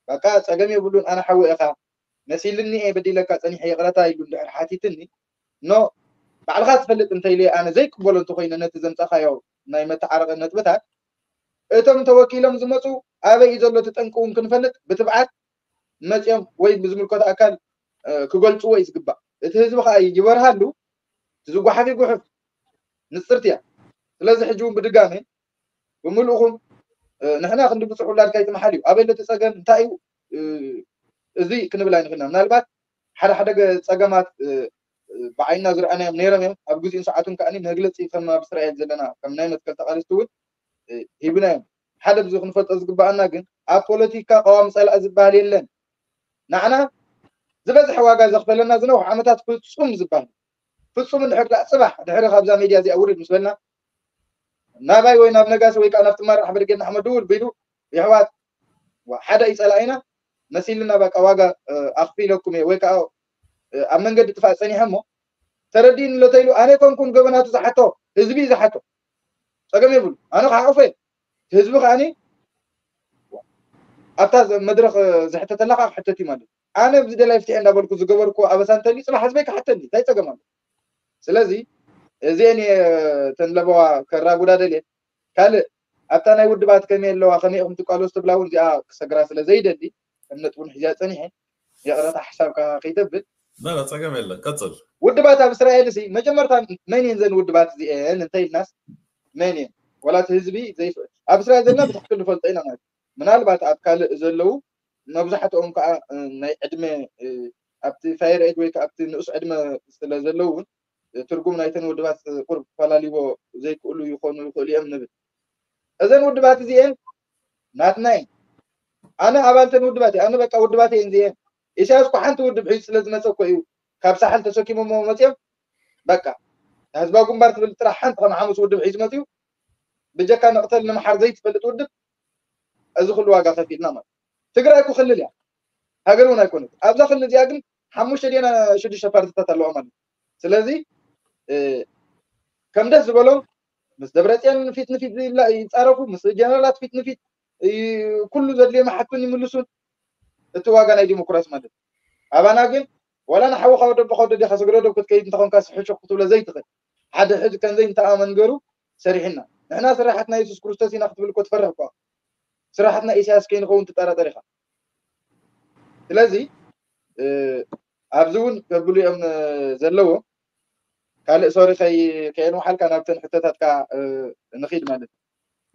በቃ ፀገም የብሉን ኣነ ሓወ ኢኻ መሲልኒ እየ በዲለካ ፀኒሐ ይቕረታ ኢሉ እንድሕር ሓቲትኒ ኖ ባዕልኻ ትፈልጥ እንተኢለ ኣነ ዘይቅበሎ እንተኮይነ ነቲ ዘምፃኻዮ ናይ መተዓረቂ ነጥብታት እቶም ተወኪሎም ዝመፁ ኣበይ እዩ ዘሎ እቲ ጠንቂ እውን ክንፈልጥ ብትብዓት መፅኦም ወይ ብዝምልከቶ ኣካል ክገልፅዎ እዩ ዝግባእ። እቲ ህዝቢ ከዓ ይበርሃሉ። እቲ ዝጓሓፍ ይጉሕፍ፣ ንፅርቲ እያ። ስለዚ ሕጂ እውን ብድጋሜ ብምልእኹም ንሕና ክንዲ ብፁዕ ውላድካ ይትምሓል እዩ። ኣበይ ኣሎ እቲ ፀገም፣ እንታይ እዩ እዚ ክንብል ኣይንኽእልና። ምናልባት ሓደ ሓደ ገ- ፀገማት ብዓይና ዝረኣናዮም ነይሮም እዮም። ኣብ ግዜኡን ሰዓቱን ከዓኒ መግለፂ ከም ኣብ እስራኤል ዘለና ከም ናይ መትከል ተቓለስቲ እውን ሂብና እዮም። ሓደ ብዙ ክንፈልጦ ዝግባኣና ግን ኣብ ፖለቲካ ቀዋሚ ፀላኢ ዝበሃል የለን። ንዓና ዝበዝሐ ዋጋ ዘኽፈለና ዝነውሕ ዓመታት ፍፁም ዝበሃል ፍፁም እንድሕር ደኣ ፅባሕ ድሕሪ ካብዛ ሜድያ እዚኣ ውርድ ምስ በልና ናባይ ወይ ናብ ነጋሲ ወይ ከዓ ናብቲ መራሕ ብርጌድ ንሓመድ ድውል ቢሉ ይሕዋት ሓደ እዩ ፀላኢና መሲልና በቃ ዋጋ ኣኽፊለኩም እየ ወይ ከዓ ኣብ መንገዲ ጥፋእ ፀኒሐ እሞ ተረዲእኒ ኣሎ ተይሉ ኣነ ኮንኩን ገበናቱ ዝሓቶ ህዝቢ እዩ ዝሓቶ ፀገም የብሉ ኣነ ክሓቑፎ እየ ህዝቢ ከዓኒ ኣብታ መድረኽ ዝሕተተላ ከዓ ክሕተት እዩ ማለት ኣነ ብዚ ደላይ ፍትሒ እንዳበልኩ ዝገበርኩ ኣበሳ እንተልዩ ፅባሕ ህዝበይ ክሓተኒ እንታይ ፀገም ኣሎ ስለዚ እዚአን ተን ለበዋ ከራጉዳ ደልየ ካልእ ኣብታ ናይ ውድባት ከመይ ኣለዋ ከመይ ኢኹም ትቃለሱ ትብላ እውን እዚኣ ክሰግራ ስለ ዘይደሊ ከም ነጥቡን ሒዚያ ፀኒሐ ይቕረታ ሓሳብካ ከይተብል በለ ፀገም የለን ቀፅል ውድባት ኣብ እስራኤል ሲ መጀመርታ መን እየን ዘን ውድባት እዚአን እንተ ኢልናስ መን እየን ዋላ እቲ ህዝቢ ኣብ እስራኤል ዘለና ብትክክል ንፈልጦ ኢና ማለት ምናልባት ኣብ ካልእ ዘለዉ መብዛሕትኦም ከዓ ናይ ዕድመ ኣብቲ ፋየር ኤጅ ወይ ኣብቲ ንኡስ ዕድመ ስለ ዘለዉ እውን ትርጉም ናይተን ውድባት ቁርብ ክፈላልይዎ ዘይክእሉ ይኾኑ ይኽእሉ እዮም ንብል እዘን ውድባት እዚአን ናትና እየን ኣነ ኣባልተን ውድባት እየ ኣነ በቃ ውድባት እየን እዚአን ኢሳያስ እኮ ሓንቲ ውድብ ሒዙ ስለ ዝመፀ እኮ እዩ ካብ ሳሕል ተሰኪሞሞ መፅኦም በቃ ህዝባዊ ግንባር ትብል ጥራሕ ሓንቲ ከም ሓሙስ ውድብ ሒዙ መፅኡ ብጀካ መቕተል ንምሓር ዘይትፈልጥ ውድብ እዚ ኩሉ ዋጋ ከፊልና ማለት ትግራይ እኮ ክልል እያ ሃገር እውን ኣይኮነት ኣብዛ ክልል እዚኣ ግን ሓሙሽተ ዲና ሽዱሽተ ፓርቲታት ኣለዋ ማለት ስለዚ ከም ደስ ዝበሎም ምስ ደብረፅዮን ፊት ንፊት ይፃረፉ ምስ ጀነራላት ፊት ንፊት ኩሉ ዘድልዮም ሓቱን ይምልሱን እቲ ዋጋ ናይ ዲሞክራሲ ማለት ኣባና ግን ዋላ ንሓውኻ ወደቦኻ ወደዴኻ ስግረዶ ክትከይድ እንተኾንካ ስሕሹኽ ክትብሎ ዘይትኽእል ሓደ ሕዚ ከምዘይ እንተኣመን ገሩ ሰሪሕና ንሕና ስራሕትና የሱስ ክርስቶስ ኢና ክትብል እኮ ትፈርሕ እኳ ስራሕትና ኢሳያስ ከይንኸውን ትጠራጠር ኢኻ ስለዚ ኣብዚ እውን ከብሉ እዮም ዘለዎ ካልእ ሶሪ ከየንውሓልካ ናብተን ሕቶታትካ ንኺድ ማለት እዩ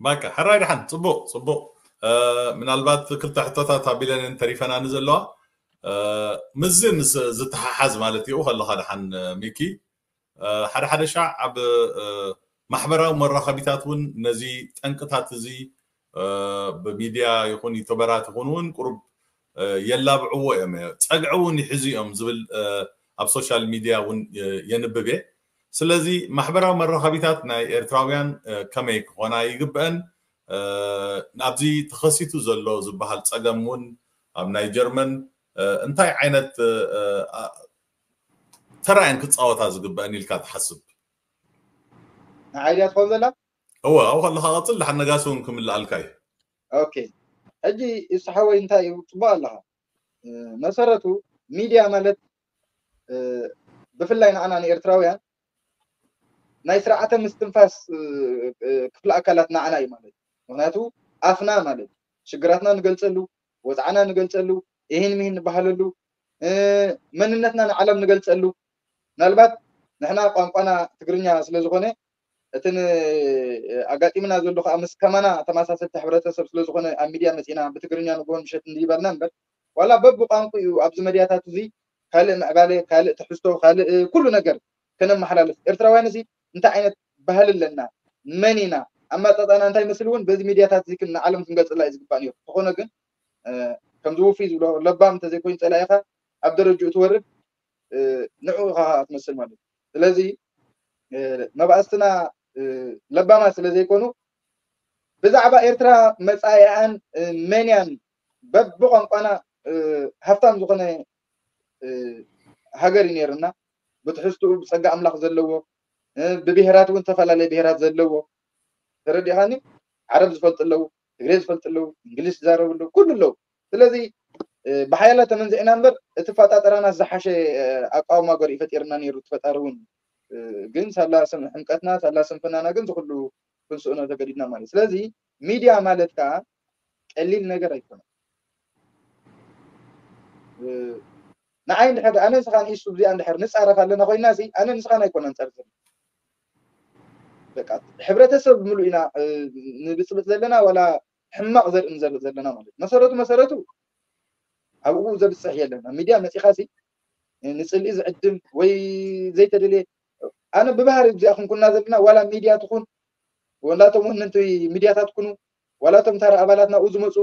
ባካ ሕራይ ድሓን ፅቡቅ ፅቡቅ ምናልባት ክልተ ሕቶታት ኣቢለን ተሪፈናኒ ዘለዋ ምስዚ ምስ ዝተሓሓዝ ማለት እዩ ከለካ ድሓን ሚኪ ሓደ ሓደ ሻዕ ኣብ ማሕበራዊ መራኸቢታት እውን ነዚ ጠንቅታት እዚ ብሚድያ ይኹን ዩቱበራት ይኹን እውን ቁሩብ የላብዕዎ እዮም ጸግዒ እውን ይሕዙ እዮም ዝብል ኣብ ሶሻል ሚድያ እውን የንብብ እየ ስለዚ ማሕበራዊ መራኸቢታት ናይ ኤርትራውያን ከመይ ክኾና ይግበአን ናብዚ ተኸሲቱ ዘሎ ዝበሃል ጸገም እውን ኣብ ናይ ጀርመን እንታይ ዓይነት ተራየን ክፃወታ ዝግበአን ኢልካ ትሓስብ ንዓይ ድያ ትኸውን ዘላ እወ ኣብኡ ከለካ ቀፅል ድሓን ነጋሲ እውን ክምልኣልካ እዩ ኦኬ ሕጂ እሱ ሓወይ እንታይ እዩ ፅቡቅ ኣለካ መሰረቱ ሚድያ ማለት ብፍላይ ንዓና ንኤርትራውያን ናይ ስርዓተ ምስትንፋስ ክፍለ ኣካላት ንዓና እዩ ማለት ምክንያቱ ኣፍና ማለት ሽግራትና ንገልፀሉ ወፅዓና ንገልፀሉ ይህን ምሂን ንበሃለሉ መንነትና ንዓለም ንገልፀሉ ምናልባት ንሕና ቋንቋና ትግርኛ ስለዝኾነ እቲ ኣጋጢምና ዘሎ ከዓ ምስ ከማና ተመሳሰልቲ ሕብረተሰብ ስለዝኾነ ኣብ ሚድያ መፂና ብትግርኛ ንግሆን ምሸት እንዲበልና እምበር ዋላ በብቋንቁ እዩ ኣብዚ መድያታት እዚ ካልእ ምዕባለ ካልእ ትሕዝቶ ካልእ ኩሉ ነገር ከነመሓላልፍ ኤርትራውያን እዚ እንታይ ዓይነት ባህሊ ኣለና መን ኢና ኣመጣጣና እንታይ መስል እውን በዚ ሚድያታት እዚ ንዓለም ክንገልፅላ እዩ ዝግባእ ነይሩ ተኾነ ግን ከምዚ ውፍይ ዝብሎ ለባም እንተዘይኮይኑ ፀላኢኻ ኣብ ደረጅኡ ትወርድ ንዑ ኢኻ ትመስል ማለት እዩ ስለዚ መባእስትና ለባማት ስለ ዘይኮኑ ብዛዕባ ኤርትራ መፃኢኣን መንያን በብቋንቋና ሃፍታም ዝኾነ ሃገር እዩ ነይርና ብትሕዝትኡ ብፀጋ ኣምላኽ ዘለዎ ብብሄራት እውን ዝተፈላለየ ብሄራት ዘለዎ ተረዲኻኒ ዓረብ ዝፈልጡ ኣለዉ ትግሬ ዝፈልጡ ኣለዉ እንግሊዝ ዝዛረቡ ኣለዉ ኩሉ ኣለዉ ስለዚ ብሓያላ ተመንዚዕና እምበር እቲ ፈጣጠራናስ ዝሓሸ ኣቃውማ ገሪኡ ፈጢርና ነይሩ እቲ ፈጣሪ እውን ግን ሳላ ስም ሕምቀትና ሳላ ስንፍናና ግን ዝኩሉ ክንስእኖ ተገዲድና ማለት ስለዚ ሚድያ ማለት ከዓ ቀሊል ነገር ኣይኮነን። ንዓይ እንድሕር ኣነ ንስኻን ኢሱ እዚኣ እንድሕር ንፃረፍ ኣለና ኮይና ሲ ኣነ ንስኻን ኣይኮነን ፀርፅር በቃ ሕብረተሰብ ምሉእ ኢና ንብፅብፅ ዘለና ዋላ ሕማቕ ዘርኢ ንዘርኢ ዘለና ማለት መሰረቱ መሰረቱ ኣብኡ ዘብፅሕ የለን ኣብ ሚድያ መፂኻ ሲ ንፅልኢ ዝዕድም ወይ ዘይተደልየ ኣነ ብባህሪ እዚኣ ክንኩና ዘለና ዋላ ሚድያ ትኹን ወላቶም ወነንቲ ሚድያታት ኩኑ ዋላቶም ታራ ኣባላት ናብኡ ዝመፁ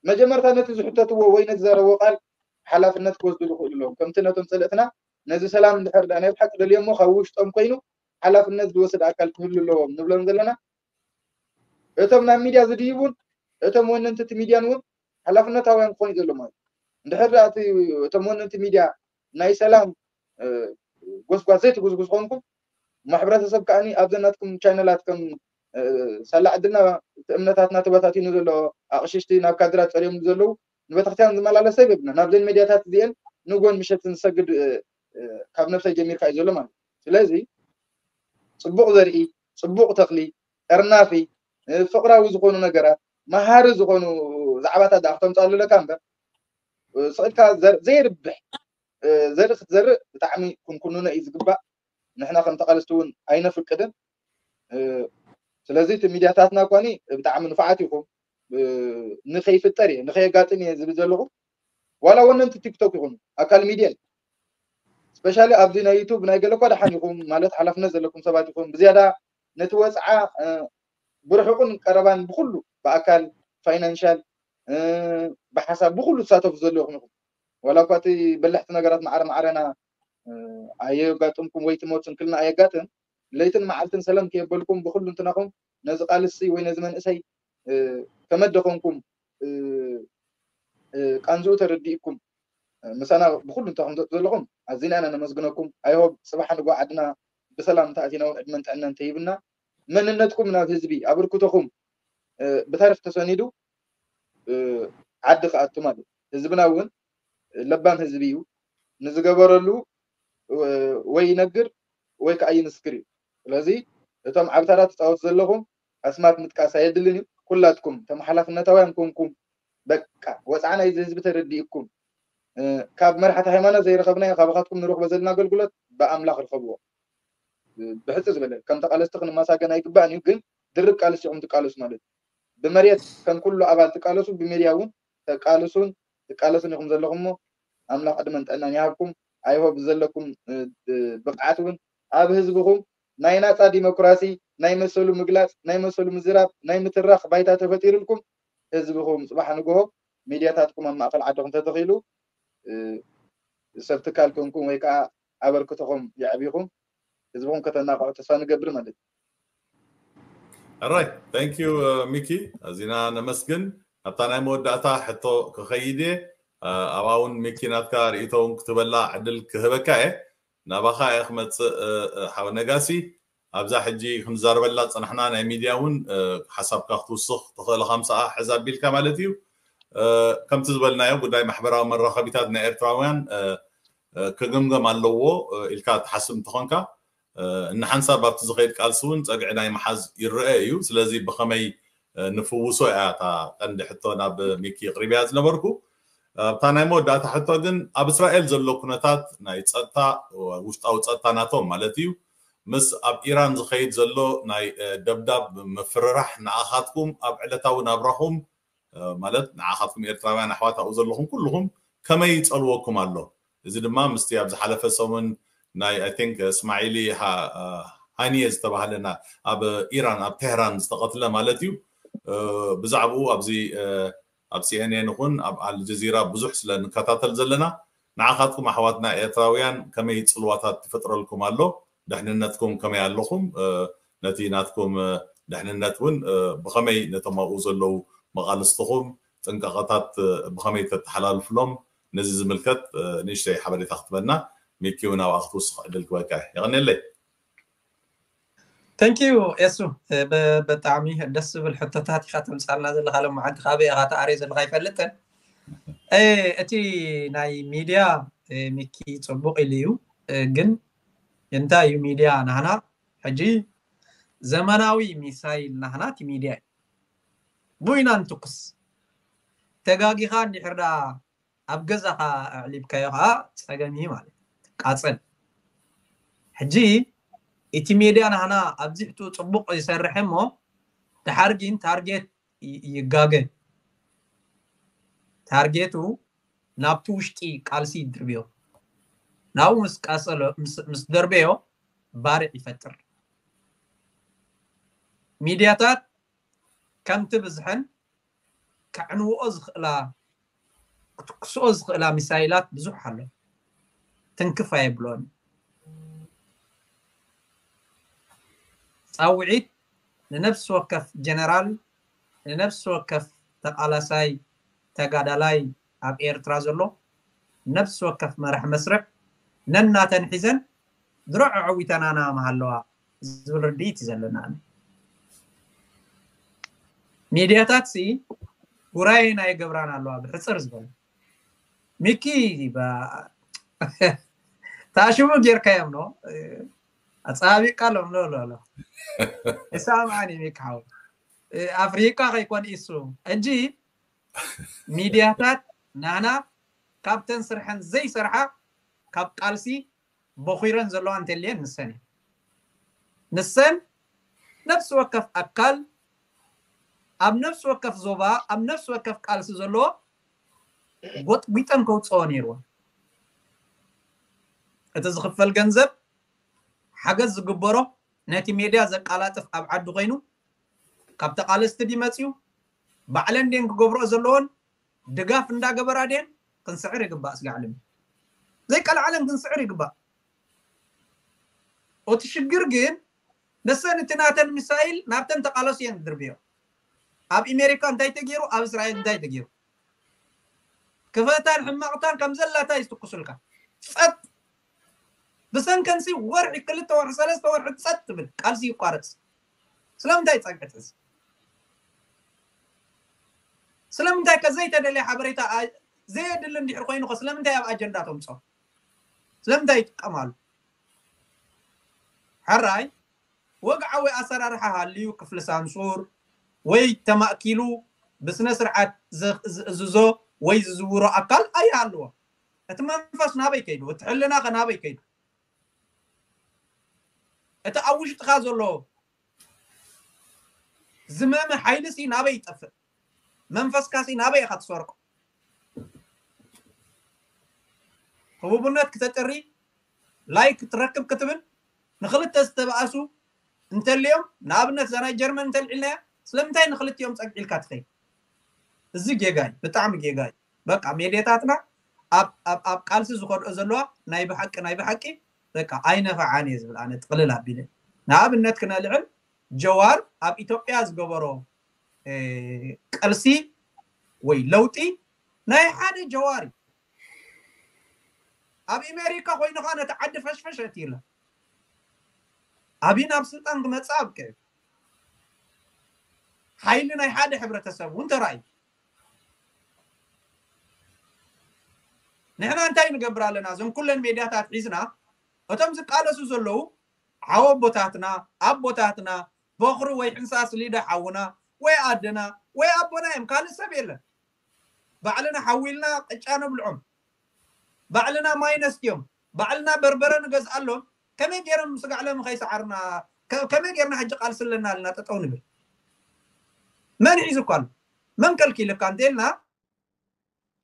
መጀመርታ ነቲ ዝሕተትዎ ወይ ነቲ ዘረብዎ ቃል ሓላፍነት ክወስድሉ ይኽእሉ ኣለዎም ከምቲ ነቶም ፀለእትና ነዚ ሰላም እንድሕር ዳ ናይ ብሓቂ ደልዮሞ ካብ ውሽጦም ኮይኑ ሓላፍነት ዝወስድ ኣካል ክህሉ ኣለዎም ንብሎም ዘለና እቶም ናብ ሚድያ ዝድይቡን እቶም ወነንቲ እቲ ሚድያን እውን ሓላፍነታውያን ክኾኑ ዘለዎም ማለት እንድሕር ዳ እቲ እቶም ወነንቲ ሚድያ ናይ ሰላም ጎስጓስ ዘይትጉስጉስ ኮንኩም ማሕበረተሰብ ከዓኒ ኣብዘን ናትኩም ቻነላት ከም ሳላ ዕድልና እቲ እምነታትና ተበታቲኑ ዘሎ ኣቕሽሽቲ ናብ ካድራት ፀርዮም ዘለዉ ንቤተክርስትያን ዝመላለስ ሰብ የብልና ናብዘን ሜድያታት እዚአን ንጎን ምሸትን ዝሰግድ ካብ ነብሰይ ጀሚርካ እዩ ዘሎ ማለት ስለዚ ፅቡቅ ዘርኢ ፅቡቅ ተኽሊ ጠርናፊ ፍቅራዊ ዝኾኑ ነገራት መሃሪ ዝኾኑ ዛዕባታት ዳ ክተምፃሉ ኣለካ እምበር ስቕልካ ዘይርብሕ ዘርኢ ክትዘርእ ብጣዕሚ ክንኩንኖ እዩ ዝግባእ ንሕና ከም ተቓለስቲ እውን ኣይነፍቅድን ስለዚ እቲ ሚድያታትና እኳኒ ብጣዕሚ ንፉዓት ኢኹም ንኸይፍጠር እየ ንኸየጋጥም እየ ዝብል ዘለኹ ዋላ ወነንቲ ቲክቶክ ይኹኑ ኣካል ሚድያ እዩ ስፔሻሊ ኣብዚ ናይ ዩቱብ ናይ ገለ እኳ ደሓን ኢኹም ማለት ሓላፍነት ዘለኩም ሰባት ኢኹም ብዝያዳ ነቲ ወፅዓ ብርሑቕን ቀረባን ብኩሉ ብኣካል ፋይናንሻል ብሓሳብ ብኩሉ ትሳተፉ ዘለኹም ኢኹም ዋላ እኳ እቲ በላሕቲ ነገራት ማዕረ ማዕረና ኣየጋጥምኩም ወይ ትሞት ስንክልና ኣየጋጥም ለይትን መዓልትን ሰለም ከየበልኩም ብኩሉ እንትናኹም ነዚ ቃልሲ ወይ ነዚ መንእሰይ ከመደኾንኩም ቃንዝኡ ተረዲእኩም ምሳና ብኩሉ እንተ ከምዘጡ ዘለኹም ኣዚና ኢና ነመስግነኩም ኣይሆብ ፅባሕ ንጎ ዓድና ብሰላም እንተኣቲና እውን ዕድመን ጥዕናን ተሂብና መንነትኩም ናብ ህዝቢ ኣበርክቶኹም ብታሪክ ተሰኒዱ ዓዲ ክኣቱ ማለት ህዝብና እውን ለባም ህዝቢ እዩ ንዝገበረሉ ወይ ይነግር ወይ ከዓ ይምስክር እዩ ስለዚ እቶም ዓብታራት ትፃወቱ ዘለኹም ኣስማት ምጥቃስ ኣየድልን እዩ ኩላትኩም እቶም ሓላፍነታውያን ኮንኩም በቃ ወፃዓ ናይዚ ህዝቢ ተረዲእኩም ካብ መራሕቲ ሃይማኖት ዘይረኸብናዮ ካባኻትኩም ንረኽቦ ዘለና ኣገልግሎት ብኣምላኽ ርከብዎ ብሕፂ ዝበለ ከም ተቃለስቲ ክንመሳገን ኣይግባእን እዩ ግን ድርብ ቃልስ ኢኹም ትቃለሱ ማለት እዩ ብመሬት ከም ኩሉ ኣባል ትቃለሱ ብሜድያ እውን ተቃልሱን ትቃለሱን ኢኹም ዘለኹም እሞ ኣምላኽ ዕድመን ጥዕናን ይሃብኩም ኣይሆብ ዘለኩም ብቕዓት እውን ኣብ ህዝብኹም ናይ ናፃ ዲሞክራሲ ናይ መሰሉ ምግላፅ ናይ መሰሉ ምዝራብ ናይ ምትራኽ ባይታ ተፈጢሩልኩም ህዝብኹም ፅባሕ ንግሆ ሚድያታትኩም ኣብ ማእኸል ዓድኹም ተተኺሉ ሰብ ትካል ኮንኩም ወይ ከዓ ኣበርክቶኹም የዕቢኹም ህዝብኹም ከተናቕዑ ተስፋ ንገብር ማለት እዩ ራይ ታንክ ዩ ሚኪ ኣዚና ነመስግን ኣብታ ናይ መወዳእታ ሕቶ ክኸይድ እየ ኣብኣ እውን ሚኪ ናትካ ርእቶ እውን ክትበላ ዕድል ክህበካ እየ ናባኻ እየ ክመፅእ ሓወ ነጋሲ ኣብዛ ሕጂ ክንዛርበላ ዝፀናሕና ናይ ሚድያ እውን ሓሳብካ ክትውስኽ ትኽእል ከምሰኣ ሕዛ ኣቢልካ ማለት እዩ ከምቲ ዝበልናዮ ጉዳይ ማሕበራዊ መራኸቢታት ናይ ኤርትራውያን ክግምገም ኣለዎ ኢልካ ትሓስብ እንትኾንካ እንሓንሳብ ኣብቲ ዝኸይድ ቃልሲ እውን ፀግዒ ናይ ምሓዝ ይረአ እዩ ስለዚ ብኸመይ ንፍውሶ እያ እታ ቀንዲ ሕቶ ናብ ሚኪ ቅሪብያ ዝነበርኩ ኣብታ ናይ መወዳእታ ሕቶ ግን ኣብ እስራኤል ዘሎ ኩነታት ናይ ፀጥታ ውሽጣዊ ፀጥታ ናቶም ማለት እዩ ምስ ኣብ ኢራን ዝኸይድ ዘሎ ናይ ደብዳብ ምፍርራሕ ንኣኻትኩም ኣብ ዕለታዊ ናብራኹም ማለት ንዓኻትኩም ኤርትራውያን ኣሕዋት ኣብኡ ዘለኹም ኩልኹም ከመይ ይፀልወኩም ኣሎ እዚ ድማ ምስቲ ኣብ ዝሓለፈ ሰሙን ናይ I think እስማዒሊ ሃኒየ ዝተባህለ ኣብ ኢራን ኣብ ቴህራን ዝተቐትለ ማለት እዩ ብዛዕባኡ ኣብዚ ኣብ ሲኤንኤን ይኹን ኣብ ኣልጀዚራ ብዙሕ ስለ ንከታተል ዘለና ንዓኻትኩም ኣሕዋትና ኤርትራውያን ከመይ ፅልዋታት ትፈጥረልኩም ኣሎ ደሕንነትኩም ከመይ ኣለኹም ነቲ ናትኩም ደሕንነት እውን ብኸመይ ነቶም ኣብኡ ዘለዉ መቓልስትኹም ጥንቃቐታት ብኸመይ ተተሓላልፍሎም ነዚ ዝምልከት ንእሽተይ ሓበሬታ ክትበና ሚኪ እውን ኣብኣ ክትውስኽ ዕድል ክበካ የቐንየለይ Thank you ኤሱ ብጣዕሚ ደስ ዝብል ሕቶታት ኢካ ተምፃልና ዘለካ ሎም መዓንቲ ካበይ ኢካ ተኣርየ ዘለካ ይፈልጥን እቲ ናይ ሚድያ ሚኪ ፅቡቅ ኢሉ እዩ ግን እንታይ እዩ ሚድያ ናህና ሕጂ ዘመናዊ ሚሳይል ናህና እቲ ሚድያ እዩ ቡይና ንትኩስ ተጋጊኻ እንድሕር ደኣ ኣብ ገዛኻ ኣዕሊብካዮ ከዓ ጸገም እዩ ማለት እዩ። ቃጸል። ሕጂ እቲ ሜድያ ናህና ኣብዚሕቱ ጽቡቕ ይሰርሕ እሞ፣ ድሓር ግን ታርጌት ይ-፣ ይጋገ። ታርጌቱ ናብቲ ውሽጢ ቃልሲ ይድርብዮ። ናብኡ ምስ ቀጸሎ፣ ምስ፣ ምስ ደርበዮ ባርዕ ይፈጥር። ሚድያታት ከምቲ ብዝሐን ከዕንውኦ ዝኽእላ፣ ክትኩስኦ ዝኽእላ ሚሳይላት ብዙሕ ኣሎ። ትንክፍ ኣየብሎን። ጻውዒት ንነፍሲ ወከፍ ጀነራል፣ ንነፍሲ ወከፍ ተቓላሳይ ተጋዳላይ ኣብ ኤርትራ ዘሎ፣ ነፍሲ ወከፍ መራሕ መስርዕ ነናተን ሒዘን ድሮ ኣዐዊተናና ምሃለዋ ዝብል ርድኢት እዩ ዘለና። ኣነ ሚድያታት ሲ ጉራየና ይገብራን ኣለዋ ብሕፅር ዝበለ። ሚኪ ባ-፣ ታሽሙ ጌርካዮም ኖ ኣፀባቢቃሎም ሎ ሎ ሎ ይሰማዕኒ ሚኪ ሓው ኣፍሪቃ ከይኮን ኢሱ ሕጂ ሚድያታት ናህና ካብተን ስርሐን ዘይሰርሓ ካብ ቃልሲ በኺረን ዘለዋ እንተልየን ንሰን እየን። ንሰን ነፍሲ ወከፍ ኣካል ኣብ ነፍሲ ወከፍ ዞባ ኣብ ነፍሲ ወከፍ ቃልሲ ዘለዎ ጎጥጒጠን ከውፅኦ ነይርወን። እቲ ዝኽፈል ገንዘብ ሓገዝ ዝግበሮ ነቲ ሜድያ ዘቃላጥፍ ኣብ ዓዲ ኮይኑ ካብ ተቓለስቲ ድዩ መፅዩ ባዕለን ድየን ክገብርኦ ዘለዎን ድጋፍ እንዳገበራ ድየን ክንስዕር ይግባእ። ስጋዕ ዓለም ዘይቀልዓለን ክንስዕር ይግባእ። እቲ ሽግር ግን ንሰን እቲ ናተን ሚሳይል ናብተን ተቓለሱ እየን ዝድርብዮ። ኣብ ኣሜሪካ እንታይ ተገይሩ፣ ኣብ እስራኤል እንታይ ተገይሩ፣ ክፈታን ሕማቕታን ከም ዘላታ ይትኩሱልካ። ጸጥ ብሰንከንሲ ወርሒ ክልተ ወርሒ ሰለስተ ወርሒ ጸጥ ትብል ቃልሲ ይቋረጽ። ስለምንታይ ጸግዒ ትሕዝ? ስለምንታይ ከ ዘይተደልየ ሓበሬታ ኣ-፣ ዘየድሊ እንድሕር ኮይኑ ከ ስለምንታይ ኣብ ኣጀንዳ ተምጾ? ስለምንታይ ይጥቀማሉ? ሕራይ ወግዓዊ ኣሰራርሓ ሃልዩ ክፍሊ ሳንሱር ወይ ተማእኪሉ ብስነ ስርዓት ዘ-፣ ዝእዝዞ ወይ ዝዝውሮ ኣካል ኣይሃልዎ። እቲ መንፈስ ናበይ ከይዱ? እቲ ሕልና ከ ናበይ ከይዱ? እቲ ኣብ ውሽጥኻ ዘሎ ዝመመ ሓይሊ ሲ ናበይ ይጠፍእ? መንፈስካ ሲ ናበይ ኢኻ ትሰርቆ? ህቡብነት ክተጥሪ ላይክ ክትረክብ ክትብል ንክልተ ዝተባእሱ እንተልዮም ንኣብነት እዛ ናይ ጀርመን እንተልዒልናያ ስለምንታይ ንክልቲኦም ጸግዒልካ ትኸይድ? እዚ ጌጋ እዩ፣ ብጣዕሚ ጌጋ እዩ። በቃ ሜድያታትና ኣብ፣ ኣብ፣ ኣብ ቃልሲ ዝኸድኦ ዘለዋ ናይ ብሓቂ ናይ ብሓቂ በቃ ኣይነፈዓን እየ ዝብል ኣነ ጥቕልል ኣቢለ። ንኣብነት ክነልዕል ጀዋር ኣብ ኢትዮጵያ ዝገበሮ እ፣ ቃልሲ ወይ ለውጢ ናይ ሓደ ጀዋር እዩ። ኣብ ኣሜሪካ ኮይኑ ከዓ ነቲ ዓዲ ፈሽፈሽ ኣእትዩላ። ኣብይ ናብ ስልጣን ክመፅእ ኣብቅዕ ሓይሊ ናይ ሓደ ሕብረተሰብ እውን ተራእዩ። ንሕና እንታይ ንገብር ኣለና? እዞም ኩለን ሜድያታት ሒዝና እቶም ዝቃለሱ ዘለዉ ሓወቦታትና ኣቦታትና በኹሪ ወይ ሕንሳስ ሊደ ሓውና ወይ ኣደና ወይ ኣቦና እዮም፣ ካልእ ሰብ የለን። ባዕልና ሓዊልና ቅጫ ነብልዖም፣ ባዕልና ማይ ነስትዮም፣ ባዕልና በርበረ ንገዝኣሎም። ከመይ ገይሮም ስጋዕ ሎም ከይሰዓርና ከ-፣ ከመይ ገይርና ሕጂ ቃልሲ ኣለና ኢልና ጠጠው ንብል? መን ሒዙካ ኣሎ? መን ከልኪልካ እንተልና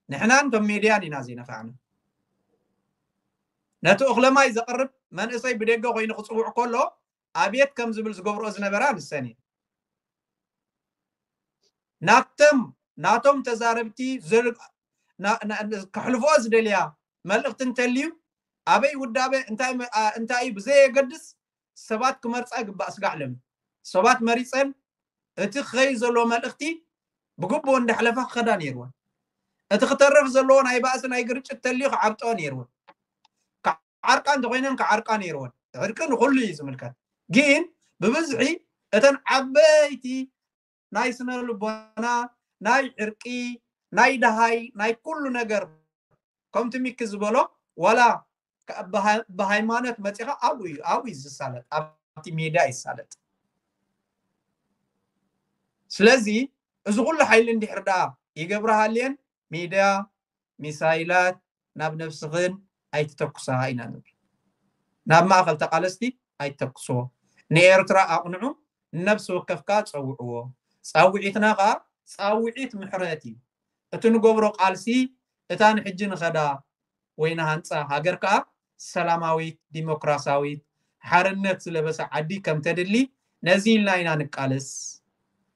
ንሕናን እቶም ሜድያን ኢና ዘይነፋዕና። ነቲ እኽለ ማይ ዘቕርብ መንእሰይ ብደገ ኮይኑ ክፅውዕ ከሎ ኣብየት ከም ዝብል ዝገብርኦ ዝነበራ ንሰን እየን። ናብቶም ናቶም ተዛረብቲ ዘር-፣ ና-፣ ና-፣ ከሕልፍኦ ዝደልያ መልእኽቲ እንተልዩ ኣበይ ውዳበ እንታይ መ-፣ ኣ-፣ እንታይ እዩ ብዘየገድስ ሰባት ክመርፃ ይግባእ። ስጋዕ ሎም ሰባት መሪፀን እቲ ክኸይድ ዘለዎ መልእኽቲ ብግቡእ እንዳሕለፋ ክኸዳ ነይርወን። እቲ ክተርፍ ዘለዎ ናይ ባእሲ ናይ ግርጭት ተልዩ ክዓብጠኦ ነይርወን። ክዓርቃ እንተኮይነን ክዓርቃ ነይርወን። ዕርቂ ንኩሉ እዩ ዝምልከት። ግን ብብዝሒ እተን ዓበይቲ ናይ ስነ ልቦና ናይ ዕርቂ ናይ ደሃይ ናይ ኩሉ ነገር ከምቲ ሚኪ ዝበሎ ዋላ ከ-፣ ብሃ-፣ ብሃይማኖት መፂኻ ኣብኡ እዩ፣ ኣብኡ እዩ ዝሳለጥ፣ ኣብቲ ሜድያ ይሳለጥ። ስለዚ እዚ ኩሉ ሓይሊ እንድሕር ደኣ ይገብርሃልየን ሚድያ፣ ሚሳይላት ናብ ነብስኽን ኣይትተኩሳ ኢና ንብል። ናብ ማእኸል ተቓለስቲ ኣይትተኩስዎ። ንኤርትራ ኣቕንዑ፣ ንነብሲ ወከፍ ከኣ ጸውዕዎ። ጻውዒትና ከኣ ጻውዒት ምሕረት እዩ። እቲ ንገብሮ ቃልሲ፣ እታ ንሕጂ ንኸዳ ወይ ንሃንጻ ሃገር ከኣ ሰላማዊት፣ ዲሞክራሲያዊት፣ ሓርነት ዝለበሰ ዓዲ ከም ተድሊ ነዚ ኢልና ኢና ንቃለስ።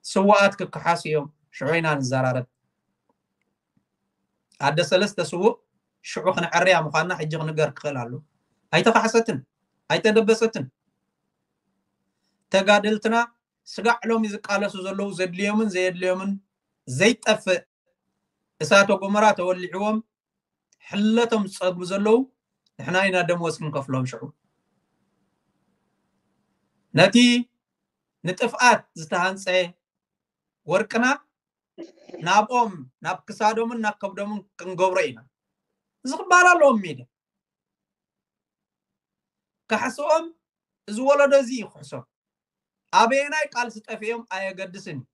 ስውኣት ክከሓሱ እዮም፣ ሽዑ ኢና ንዘራረብ። ኣደ ሰለስተ ስዉእ ሽዑ ክንዕርያ ምዃንና ሕጂ ክንገር ክኽእል ኣሎ። ኣይተኻሕሰትን፣ ኣይተደበሰትን። ተጋደልትና ስጋዕ ሎሚ ዝቃለሱ ዘለዉ ዘድልዮምን ዘየድልዮምን ዘይጠፍእ እሳተ ጎመራ ተወሊዕዎም ሕለቶም ዝጸግቡ ዘለዉ ንሕና ኢና ደሞዝ ክንከፍሎም ሽዑ። ነቲ ንጥፍኣት ዝተሃንጸ ወርቅና ናብኦም፣ ናብ ክሳዶምን ናብ ከብዶምን ክንገብሮ ኢና። እዚ ክበሃል ኣለዎም ሚድያ። ካሕስኦም እዚ ወለዶ እዚ እዩ ክሕሶም። ኣበየናይ ቃልሲ ጠፊኦም ኣየገድስን እዩ።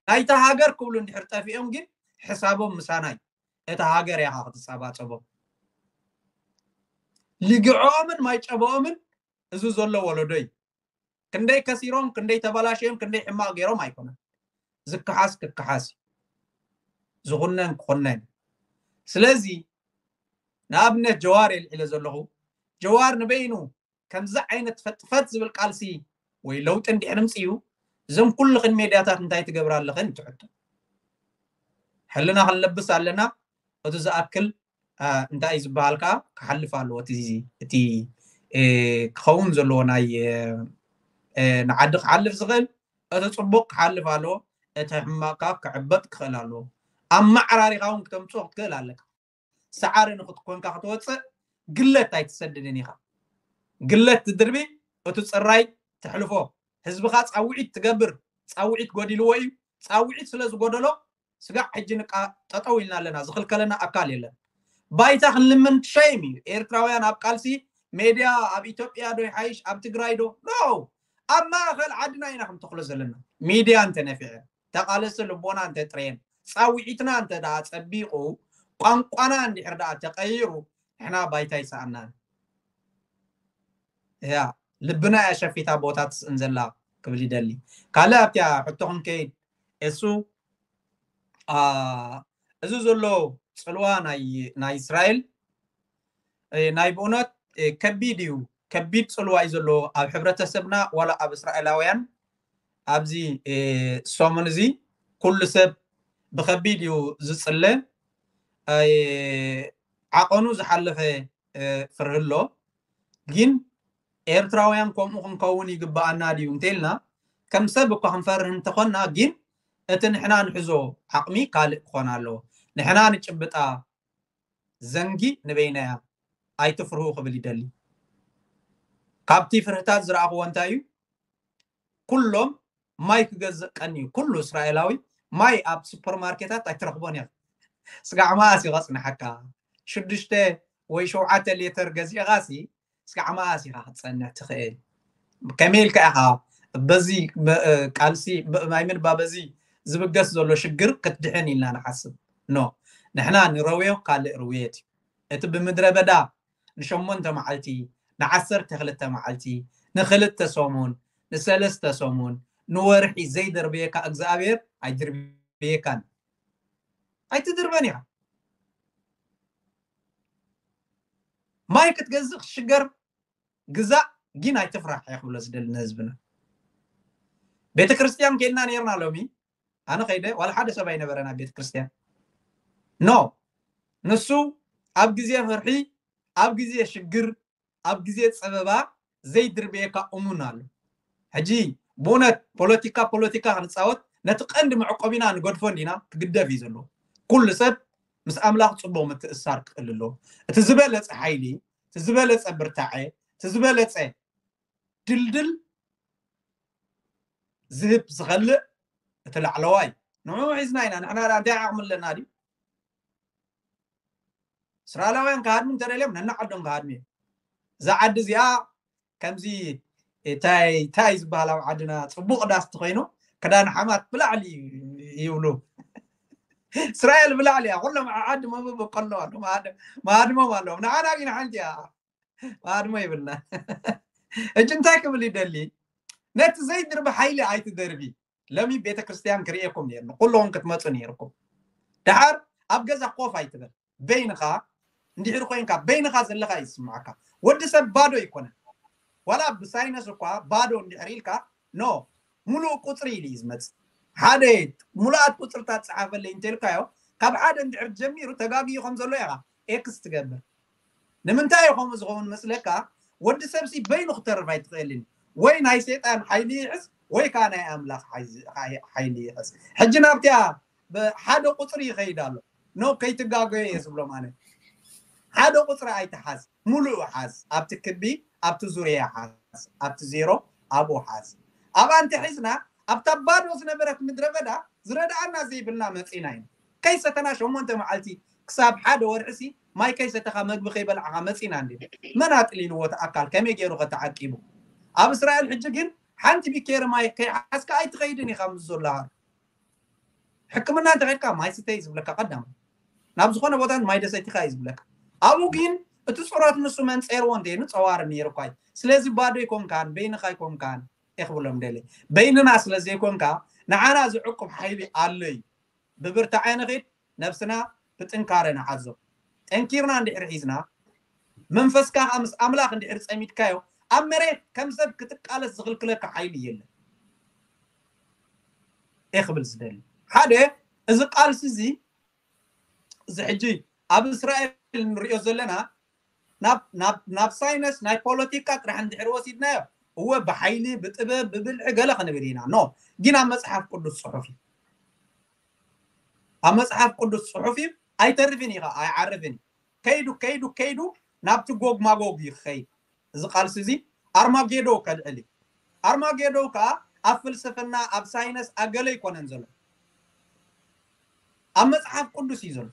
ናይታ ሃገር ክብሉ እንድሕር ጠፊኦም ግን ሕሳቦም ምሳና እዩ። እታ ሃገር እያ ክትጸባጸቦም። ልግዕኦምን ማይ ጨበኦምን እዚ ዘሎ ወለዶ እዩ። ክንደይ ከሲሮም፣ ክንደይ ተበላሽዮም፣ ክንደይ ሕማቕ ገይሮም ኣይኮነን። ዝከሓስ ክከሓስ እዩ። ዝኹነን ክኹነን እዩ። ስለዚ ንኣብነት ጀዋር የልዒለ ዘለኹ፣ ጀዋር ንበይኑ ከምዚ ዓይነት ፈጥፈጥ ዝብል ቃልሲ ወይ ለውጢ እንድሕር ምጽኡ፣ እዞም ኩልኽን ሜድያታት እንታይ ትገብራ ኣለኽን እዩ እቲ ሕቶ። ሕልና ክንለብስ ኣለና። እቲ ዝኣክል፣ አ፣ እንታይ እዩ ዝበሃል ከኣ ክሓልፍ ኣለዎ። እቲ፣ እቲ፣ እ፣ ክኸውን ዘለዎ ናይ፣ እ፣ እ፣ ንዓዲ ክሓልፍ ዝኽእል እቲ ጽቡቕ ክሓልፍ ኣለዎ። እቲ ሕማቕ ከኣ ክዕበጥ ክኽእል ኣለዎ። ኣመዓራሪኻ እውን ክተምጽኦ ክትክእል ኣለካ። ሰዓሪ ንኽትኮንካ ክትወፅእ ግለት ኣይትሰድድን ኢኻ። ግለት ትድርቢ፣ እቲ ፅራይ ተሕልፎ። ህዝብኻ ፃውዒት ትገብር፣ ፃውዒት ጎዲልዎ እዩ። ፃውዒት ስለ ዝጎደሎ ስጋዕ ሕጂ ንቃ ጠጠው ኢልና ኣለና፣ ዝኽልከለና ኣካል የለን። ባይታ ክንልምን ሸይም እዩ። ኤርትራውያን ኣብ ቃልሲ ሜድያ ኣብ ኢትዮጵያ ዶ ይሓይሽ ኣብ ትግራይ ዶ? ኖ፣ ኣብ ማእኸል ዓድና ኢና ክንተኽሎ ዘለና። ሚድያ እንተነፊዐ፣ ተቓለሲ ልቦና እንተጥረየን፣ ፃውዒትና እንተ ደኣ ጸቢቑ፣ ቋንቋና እንድሕር ደኣ ተቐይሩ፣ ንሕና ባይታ ይሰኣናን። እያ፣ ልብና እያ ሸፊታ ቦታ ትስእን ዘላ ክብል ይደሊ። ካልእ ኣብቲያ ሕቶ ክንከይድ፣ እሱ፣ አ፣ እዚ ዘሎ ጽልዋ ናይ፣ ናይ እስራኤል፣ እ፣ ናይ ብእውነት፣ እ፣ ከቢድ እዩ። ከቢድ ጽልዋ እዩ ዘለዎ ኣብ ሕብረተሰብና፣ ዋላ ኣብ እስራኤላውያን። ኣብዚ፣ እ፣ ሰሙን እዚ ኩሉ ሰብ ብኸቢድ እዩ ዝጽለ። እ፣ ዓቐኑ ዝሓለፈ፣ እ፣ ፍርሂ ኣሎ። ግን ኤርትራውያን ከምኡ ክንከውን ይግብኣና ድዩ እንተኢልና፣ ከም ሰብ እኳ ክንፈርህ እንተኾንና፣ ግን እቲ ንሕና ንሕዞ ዓቕሚ ካልእ ክኾን ኣለዎ። ንሕና ንጭብጣ ዘንጊ ንበይናያ ኣይትፍርሁ ክብል ይደሊ። ካብቲ ፍርህታት ዝረኣኽዎ እንታይ እዩ? ኩሎም ማይ ክገዝእ ቀንዩ፣ ኩሉ እስራኤላዊ ማይ ኣብ ሱፐርማርኬታት ኣይትረኽቦን ኢኻ። ስጋዕ መኣስ እዩ ከጽንሓካ? ሽዱሽተ ወይ ሸውዓተ ሌተር ገዚእኻሲ ስጋዕ መኣስ ኢኻ ክትጸንሕ ትኽእል? ከመይ ኢልካ ኢኻ በዚ መ-፣ እ፣ ቃልሲ ብ-፣ ማይ ምንባ በዚ ዝብገስ ዘሎ ሽግር ክትድሕን ኢልና ንሓስብ? ኖ፣ ንሕና ንረውዮ ካልእ ርውየት እዩ። እቲ ብምድረ በዳ ንሸሞንተ መዓልቲ፣ ንዓሰርተ ክልተ መዓልቲ፣ ንክልተ ሰሙን፣ ንሰለስተ ሰሙን፣ ንወርሒ ዘይደርበየካ እግዚኣብሔር ኣይድርብየካን። ኣይትድርበን ኢኻ። ማይ ክትገዝእ ክትሽገር ግዛእ፣ ግን ኣይትፍራሕ እየ ክብሎ ዝደሊ ንህዝብና። ቤተ ክርስቲያን ከይድና ነይርና ሎሚ። ኣነ ከይደ ዋላ ሓደ ሰብ ኣይነበረን ኣብ ቤተ ክርስቲያን። ኖ፣ ንሱ ኣብ ግዜ ፍርሒ፣ ኣብ ግዜ ሽግር፣ ኣብ ግዜ ጸበባ ዘይድርበየካ እሙን ኣሎ። ሕጂ ብእውነት ፖለቲካ፣ ፖለቲካ ክንጻወት ነቲ ቀንዲ መዕቆቢና ንገድፎ እንዲና? ክግደፍ እዩ ዘለዎ። ኩሉ ሰብ ምስ ኣምላኽ ጽቡቕ ምትእስሳር ክእል ኣለዎ። እቲ ዝበለጸ ሓይሊ፣ እቲ ዝበለጸ ብርታዐ፣ እቲ ዝበለጸ ድልድል ዝህብ ዝኸልእ እቲ ላዕለዋይ። ንዕኡ ሒዝና ኢና። ንሕና ደኣ እንታይ ዓቕሚ ኣለና ድዩ? እስራኤላውያን ክሃድሙ እንተደልዮም ነናዓዶም ክሃድሙ እዮም። እዛ ዓዲ እዚኣ ከምዚ እንታይ፣ እንታይ ዝበሃል ኣብ ዓድና ጽቡቕ ዳስ ተኾይኑ ክዳን ሓማት ብላዕሊ ይብሉ። እስራኤል ብላዕሊ እያ። ኩሎም ዓዲ መብብ ከለዋ መሃድሞም ኣለዎም። ንዓና ግን ሓንቲ እያ። መሃድሞ ይብልና። እጅ እንታይ ክብል ይደሊ? ነቲ ዘይድርቢ ሓይሊ ኣይትደርቢ። ለሚ ቤተክርስትያን ክርእየኩም ነይርኒ። ኩሎም ክትመፁ ነይርኩም። ደሓር ኣብ ገዛ ኮፍ ኣይትበል። በይንኻ እንድሕር ኮይንካ፣ በይንኻ ዘለኻ እዩ ዝስምዓካ። ወዲ ሰብ ባዶ ኣይኮነን። ዋላ ብሳይነስ እኳ ባዶ እንድሕር ኢልካ፣ ኖ፣ ሙሉእ ቁፅሪ ኢሉ እዩ ዝመፅእ። ሓደ ሙሉኣት ቁፅርታት ፀሓፈለይ እንተልካዮ፣ ካብ ሓደ እንድሕር ጀሚሩ ተጋግዩ ከም ዘሎ ኢኻ ኤክስ ትገብር። ንምንታይ እዩ ከምኡ ዝኸውን መስለካ? ወዲ ሰብሲ በይኑ ክተርፍ ኣይትኽእልን። ወይ ናይ ሰይጣን ሓይሊ ይሕዝ፣ ወይ ከዓ ናይ ኣምላኽ ሓይዚ-፣ ሓይ-፣ ሓይሊ ይሕዝ። ሕጂ ናብቲያ ብ-፣ ሓደ ቁፅሪ ይኸይድ ኣሎ። ኖ፣ ከይትጋገዮ እየ ዝብሎም ኣነ። ሓደ ቁፅሪ ኣይትሓዝ፣ ሙሉእ ሓዝ። ኣብቲ ክቢ፣ ኣብቲ ዙርያ ሓዝ፣ ኣብቲ ዜሮ ኣብኡ ሓዝ። ኣብኣ እንተሒዝና፣ ኣብታ ባዶ ዝነበረት ምድረ በዳ ዝረድኣና ዘይብልና መፂና ኢና። ከይሰተና ሸሞንተ መዓልቲ ክሳብ ሓደ ወርሒሲ ማይ ከይሰተኻ መግቢ ከይበላዕኻ መፂና እንዲ። መን ኣጥሊልዎ እቲ ኣካል ከመይ ገይሩ ከተዓቂቡ? ኣብ እስራኤል ሕጂ ግን ሓንቲ ቢኬሪ ማይ ከይሓዝካ ኣይትኸይድን ኢኻ ምስ ዘሎ ሃር። ሕክምና እንተኸድካ ማይ ስተይ ዝብለካ ቀዳም። ናብ ዝኾነ ቦታ ማይ ደሰቲኻ እዩ ዝብለካ። ኣብኡ ግን እቲ ጸሎት ንሱ መንጸርዎ እንተይኑ ጸዋር ነይሩ እኳ እዩ። ስለዚ ባዶ ኣይኮንካን፣ በይንኻ ኣይኮንካን። እየ ክብሎም ደልየ። በይንና ስለ ዘይኮንካ ንዓና ዝዕቁብ ሓይሊ ኣሎ እዩ። ብብርታዐ ንኺድ፣ ነብስና ብጥንካረ ንሓዞ። ጠንኪርና እንድሕር ሒዝና፣ መንፈስካ ከኣ ምስ ኣምላኽ እንድሕር ጸሚድካዮ፣ ኣብ መሬት ከም ሰብ ክትቃለስ ዝኽልክለካ ሓይሊ የለን። እየ ክብል ዝደሊ። ሓደ፣ እዚ ቃልሲ እዚ፣ እዚ ሕጂ ኣብ እስራኤል ንሪኦ ዘለና፣ ናብ፣ ናብ፣ ናብ ሳይነስ ናይ ፖለቲካ ጥራሕ እንድሕር ወሲድናዮ፣ እወ ብሓይሊ፣ ብጥበብ፣ ብብልሒ ገለ ክንብል ኢና። ኖ፣ ግን ኣብ መጽሓፍ ቅዱስ ጽሑፍ እዩ። ኣብ መጽሓፍ ቅዱስ ጽሑፍ እዩ። ኣይተርፍን እዩ፣ ኣይዓርፍን እዩ። ከይዱ፣ ከይዱ፣ ከይዱ ናብቲ ጎግ ማጎግ እዩ ክኸይድ። እዚ ቃልሲ እዚ ኣርማጌዶ ከልዕል እዩ። ኣርማጌዶ ከኣ ኣብ ፍልስፍና፣ ኣብ ሳይነስ፣ ኣብ ገለ ኣይኮነን ዘሎ። ኣብ መጽሓፍ ቅዱስ እዩ ዘሎ።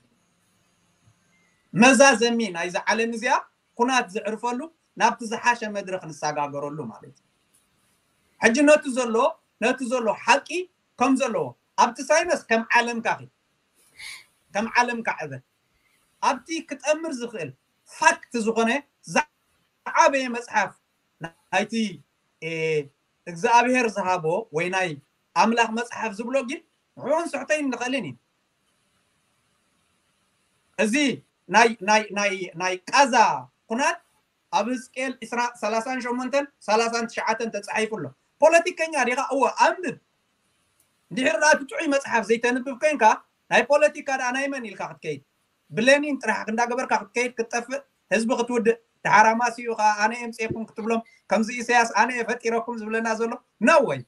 መዛዘሚ ናይዛ ዓለም እዚኣ ኩናት ዘዕርፈሉ፣ ናብቲ ዝሓሸ መድረኽ ንሰጋገረሉ ማለት እዩ። ሕጂ ነቲ ዘሎ፣ ነቲ ዘሎ ሓቂ ከም ዘለዎ፣ ኣብቲ ሳይነስ ከም ዓለምካ ኺድ፣ ከም ዓለምካ ዕበ። ኣብቲ ክጠምር ዝኽእል ፋክት ዝኾነ ዝዓበየ መጽሓፍ ናይቲ፣ እ፣ እግዚኣብሔር ዝሃቦ ወይ ናይ ኣምላኽ መጽሓፍ ዝብሎ ግን ንዕኡ ክንስሕቶ ኣይንኽእልን ኢና። እዚ ናይ፣ ናይ፣ ናይ፣ ናይ ቃዛ ኩናት ኣብ ህዝቅኤል ዕስራ፣ ሰላሳን ሸሞንተን ሰላሳን ትሽዓተን ተጻሒፉ ኣሎ። ፖለቲከኛ ዲኻ? እወ፣ ኣንብብ። እንድሕር ደኣ እቲ ጥዑይ መጽሓፍ ዘይተንብብ ኮይንካ፣ ናይ ፖለቲካ ደኣ ናይ መን ኢልካ ክትከይድ? ብሌኒን ጥራሕ እንዳገበርካ ክትከይድ፣ ክትጠፍእ፣ ህዝቢ ክትውድእ፣ ደሓር ኣማስይኡ ከኣ ኣነ እየ ኣምጽኤኩም ክትብሎም፣ ከምዚ ኢሳያስ ኣነ እየ ፈጢረኩም ዝብለና ዘሎ? No way።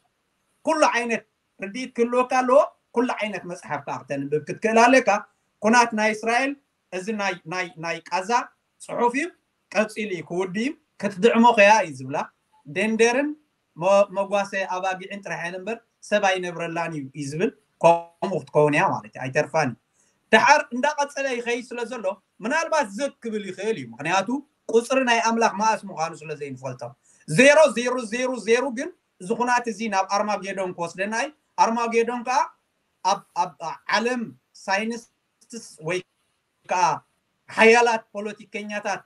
ኩሉ ዓይነት ርድኢት ክህልወካ ኣለዎ። ኩሉ ዓይነት መጽሓፍ ከኣ ክተንብብ ክትክእል ኣለካ። ኩናት ናይ እስራኤል፣ እዚ ናይ፣ ናይ፣ ናይ ቃዛ ጽሑፍ እዩ። ቀጺሉ እዩ ክውድእ እዩ። ክትድዕሞ ከያ እዩ ዝብላ። ደንደርን መ-፣ መጓሰ ኣባጊዕን ጥራሕ እየን እምበር ሰብ ኣይነብረላን እዩ፣ እዩ ዝብል። ከምኡ ክትከውን እያ ማለት እዩ። ኣይተርፋን እዩ። ደሓር እንዳቐጸለ ይኸይድ ስለ ዘሎ፣ ምናልባት ዘግ ክብል ይኽእል እዩ። ምኽንያቱ ቁጽሪ ናይ ኣምላኽ መኣስ ምዃኑ ስለ ዘይንፈልጦ። ዜሮ ዜሮ ዜሮ ዜሮ ግን እዚ ኩናት እዚ ናብ ኣርማጌዶን ክወስደና እዩ። ኣርማጌዶን ከኣ ኣብ፣ ኣብ ዓለም ሳይንቲስት ወይ ከኣ ሓያላት ፖለቲከኛታት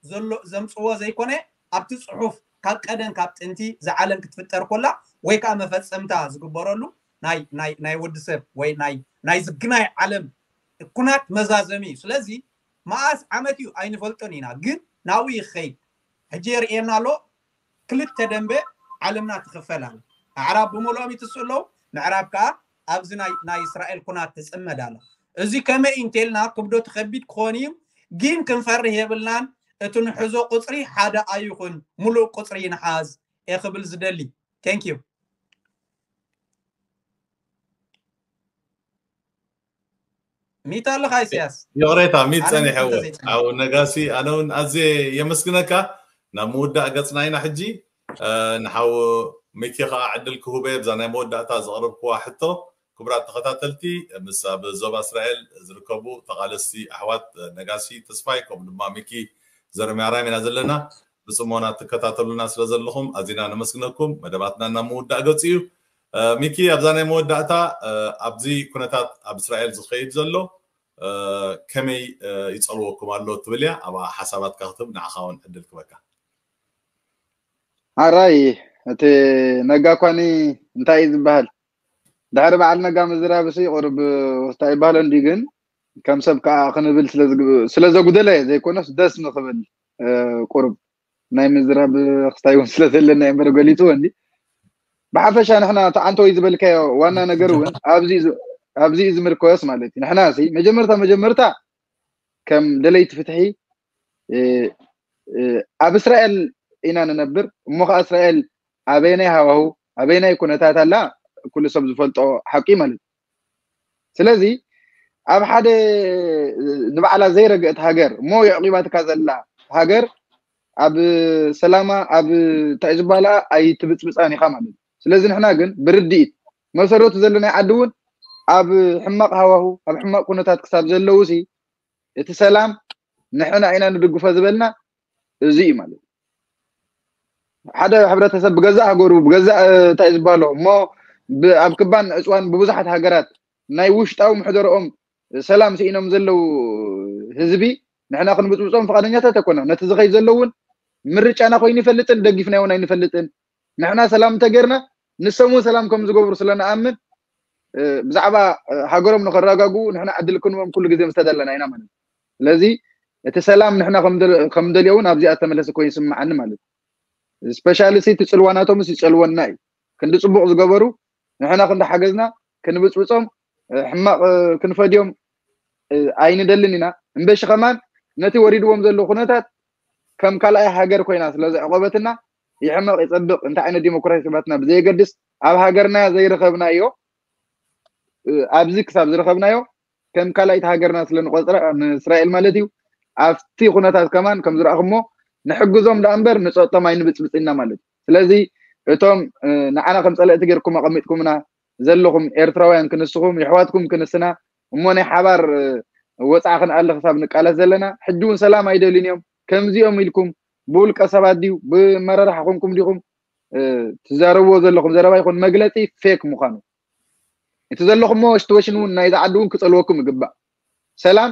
ዘሎ ዘምጽዎ ዘይኮነ፣ ኣብቲ ጽሑፍ ካብ ቀደም ካብ ጥንቲ እዛ ዓለም ክትፍጠር ኮላ ወይ ከኣ መፈጸምታ ዝግበረሉ ናይ፣ ናይ፣ ናይ ወዲ ሰብ ወይ ናይ፣ ናይ ዝግናይ ዓለም ኩናት መዛዘሚ እዩ። ስለዚ መኣስ ዓመት እዩ ኣይንፈልጦን ኢና፣ ግን ናብኡ ይኸይድ። ሕጂ የርእየና ኣሎ። ክልተ ደንበ ዓለምና ትኽፈል ኣላ። ኣዕራብ ብምልኦም ይትስኡ ኣለዉ፣ ምዕራብ ከኣ ኣብዚ ናይ፣ ናይ እስራኤል ኩናት ትጽመድ ኣላ። እዚ ከመይ እዩ እንተልና ክብደቱ ከቢድ ክኾን እዩ፣ ግን ክንፈርህ የብልናን። እቲ ንሕዞ ቁጽሪ ሓደ ኣይኹን፣ ሙሉእ ቁጽሪ ንሓዝ እየ ክብል ዝደሊ። Thank you። ሚት ኣለኻ ኢሳያስ? ይቕሬታ፣ ሚት ኣነ ጸኒሐ ሚት እውን። ተዘይጸኒሐ። ሓው ነጋሲ፣ ኣነ እውን ኣዝየ የመስግነካ። ናብ ምውዳእ ገጽና ኢና ሕጂ። እ፣ ንሓው ሚኪ ኸዓ ዕድል ክህቦ እየ፣ ብዛ ናይ መወዳእታ ዘቕረብክዋ ሕቶ። ክቡራት ተኸታተልቲ፣ ምስ ኣብ ዞባ እስራኤል ዝርከቡ ተቓለስቲ ኣሕዋት ነጋሲ ተስፋይ፣ ከምኡ ድማ ሚኪ ዘርሚያራም ኢና ዘለና። ብጽሞና ትከታተሉና ስለ ዘለኹም ኣዚና ነመስግነኩም። መደባትና ናብ ምውዳእ ገጹ እዩ። ሚኪ ኣብዛ ናይ መወዳእታ ኣብዚ ኩነታት ኣብ እስራኤል ዝኸይድ ዘሎ ከመይ ይፀልወኩም ኣሎ ትብል እያ። ኣብኣ ሓሳባትካ ክትብ ንዓኻ እውን ዕድል ክበካ። ኣራይ እቲ ነጋ ኳኒ እንታይ እዩ ዝበሃል? ድሕሪ በዓል ነጋ ምዝራብሲ ቁርብ እንታይ ይበሃሎ እንዲ ግን ከም ሰብ ከዓ ክንብል ስለዘጉደለ ዘይኮነስ ደስ ንክብል ቁርብ ናይ ምዝራብ ክስታይ እውን ስለዘለና እምበር ገሊፅዎ እንዲ ብሓፈሻ ንሕና ተዓንተወይ ዝበልካዮ ዋና ነገር እውን ኣብዚ እዩ ዝምርኮስ ማለት እዩ። ንሕና ሲ መጀመርታ መጀመርታ ከም ደለይቲ ፍትሒ ኣብ እስራኤል ኢና ንነብር። እሞ ከዓ እስራኤል ኣበየናይ ሃዋሁ ኣበየናይ ኩነታት ኣላ ኩሉ ሰብ ዝፈልጦ ሓቂ ማለት እዩ። ስለዚ ኣብ ሓደ ንባዕላ ዘይረግአት ሃገር እሞ የዕቂባትካ ዘላ ሃገር ኣብ ሰላማ ኣብ እንታይ ዝበሃላ ኣይትብፅብፃን ኢኻ ማለት እዩ። ስለዚ ንሕና ግን ብርድኢት መሰረቱ ዘለናይ ዓዲ እውን ኣብ ሕማቕ ሃዋሁ ኣብ ሕማቕ ኩነታት ክሳብ ዘለውሲ እቲ ሰላም ንሕና ኢና ንድግፎ ዝበልና እዚ እዩ ማለት እዩ። ሓደ ሕብረተሰብ ብገዛእ ሃገሩ ብገዛእ እንታይ ዝበሃሎ እሞ ኣብ ክባን ዕፅዋን ብብዙሓት ሃገራት ናይ ውሽጣዊ ምሕደርኦም ሰላም ስኢኖም ዘለዉ ህዝቢ ንሕና ክንብፅብፆም ፍቃደኛታት ኣይኮና። ነቲ ዝኸይ ዘሎ እውን ምርጫና ኮይኑ ይፈልጥን ደጊፍና እውን ኣይንፈልጥን። ንሕና ሰላም እንተገርና ንሶም እውን ሰላም ከም ዝገብሩ ስለንኣምን ብዛዕባ ሃገሮም ንኸረጋግኡ ንሕና ዕድል ክንቦም ኩሉ ግዜ ምስ ተደለና ኢና ማለት እዩ። ስለዚ እቲ ሰላም ንሕና ከምደልዮ እውን ኣብዚኣ ተመለሰ ኮይኑ ይስምዓኒ ማለት እዩ። ስፔሻሊ እቲ ፅልዋናቶምስ ይፀልወና እዩ። ክንዲ ፅቡቕ ዝገበሩ ንሕና ክንዲ ሓገዝና ክንብፅብፆም ሕማቕ ክንፈድዮም ኣይንደልን ኢና። እምበሺ ከማን ነቲ ወሪድዎም ዘሎ ኩነታት ከም ካልኣይ ሃገር ኮይና ስለ ዘዕቆበትና ይሕመቕ ይፀብቕ እንታይ ዓይነት ዲሞክራሲ ባትና ብዘየገድስ ኣብ ሃገርና ዘይረኸብናዮ ኣብዚ ክሳብ ዝረኸብናዮ ከም ካልኣይቲ ሃገርና ስለ ንቆፅራ ንእስራኤል ማለት እዩ። ኣብቲ ኩነታት ከማን ከም ዝረኣኹሞ ንሕግዞም ደኣ እምበር ንፀጥቶም ኣይንብፅብፅና ማለት እዩ። ስለዚ እቶም ንዓና ከም ፀለእቲ ጌርኩም ኣቐሚጥኩምና ዘለኹም ኤርትራውያን ክንስኹም የሕዋትኩም ክንስና እሞ ናይ ሓባር ወፃዓ ክንኣሊ ክሳብ ንቃለስ ዘለና ሕጂ እውን ሰላም ኣይደልዩን እዮም። ከምዚኦም ኢልኩም ብውልቀ ሰባት ድዩ ብመረራሕ ኮንኩም ዲኹም ትዛረብዎ ዘለኹም ዘረባ ይኹን መግለፂ ፌክ ምዃኑ እቲ ዘለኹሞ ሽትወሽን እውን ናይዚ ዓዲ እውን ክፀልወኩም ይግባእ። ሰላም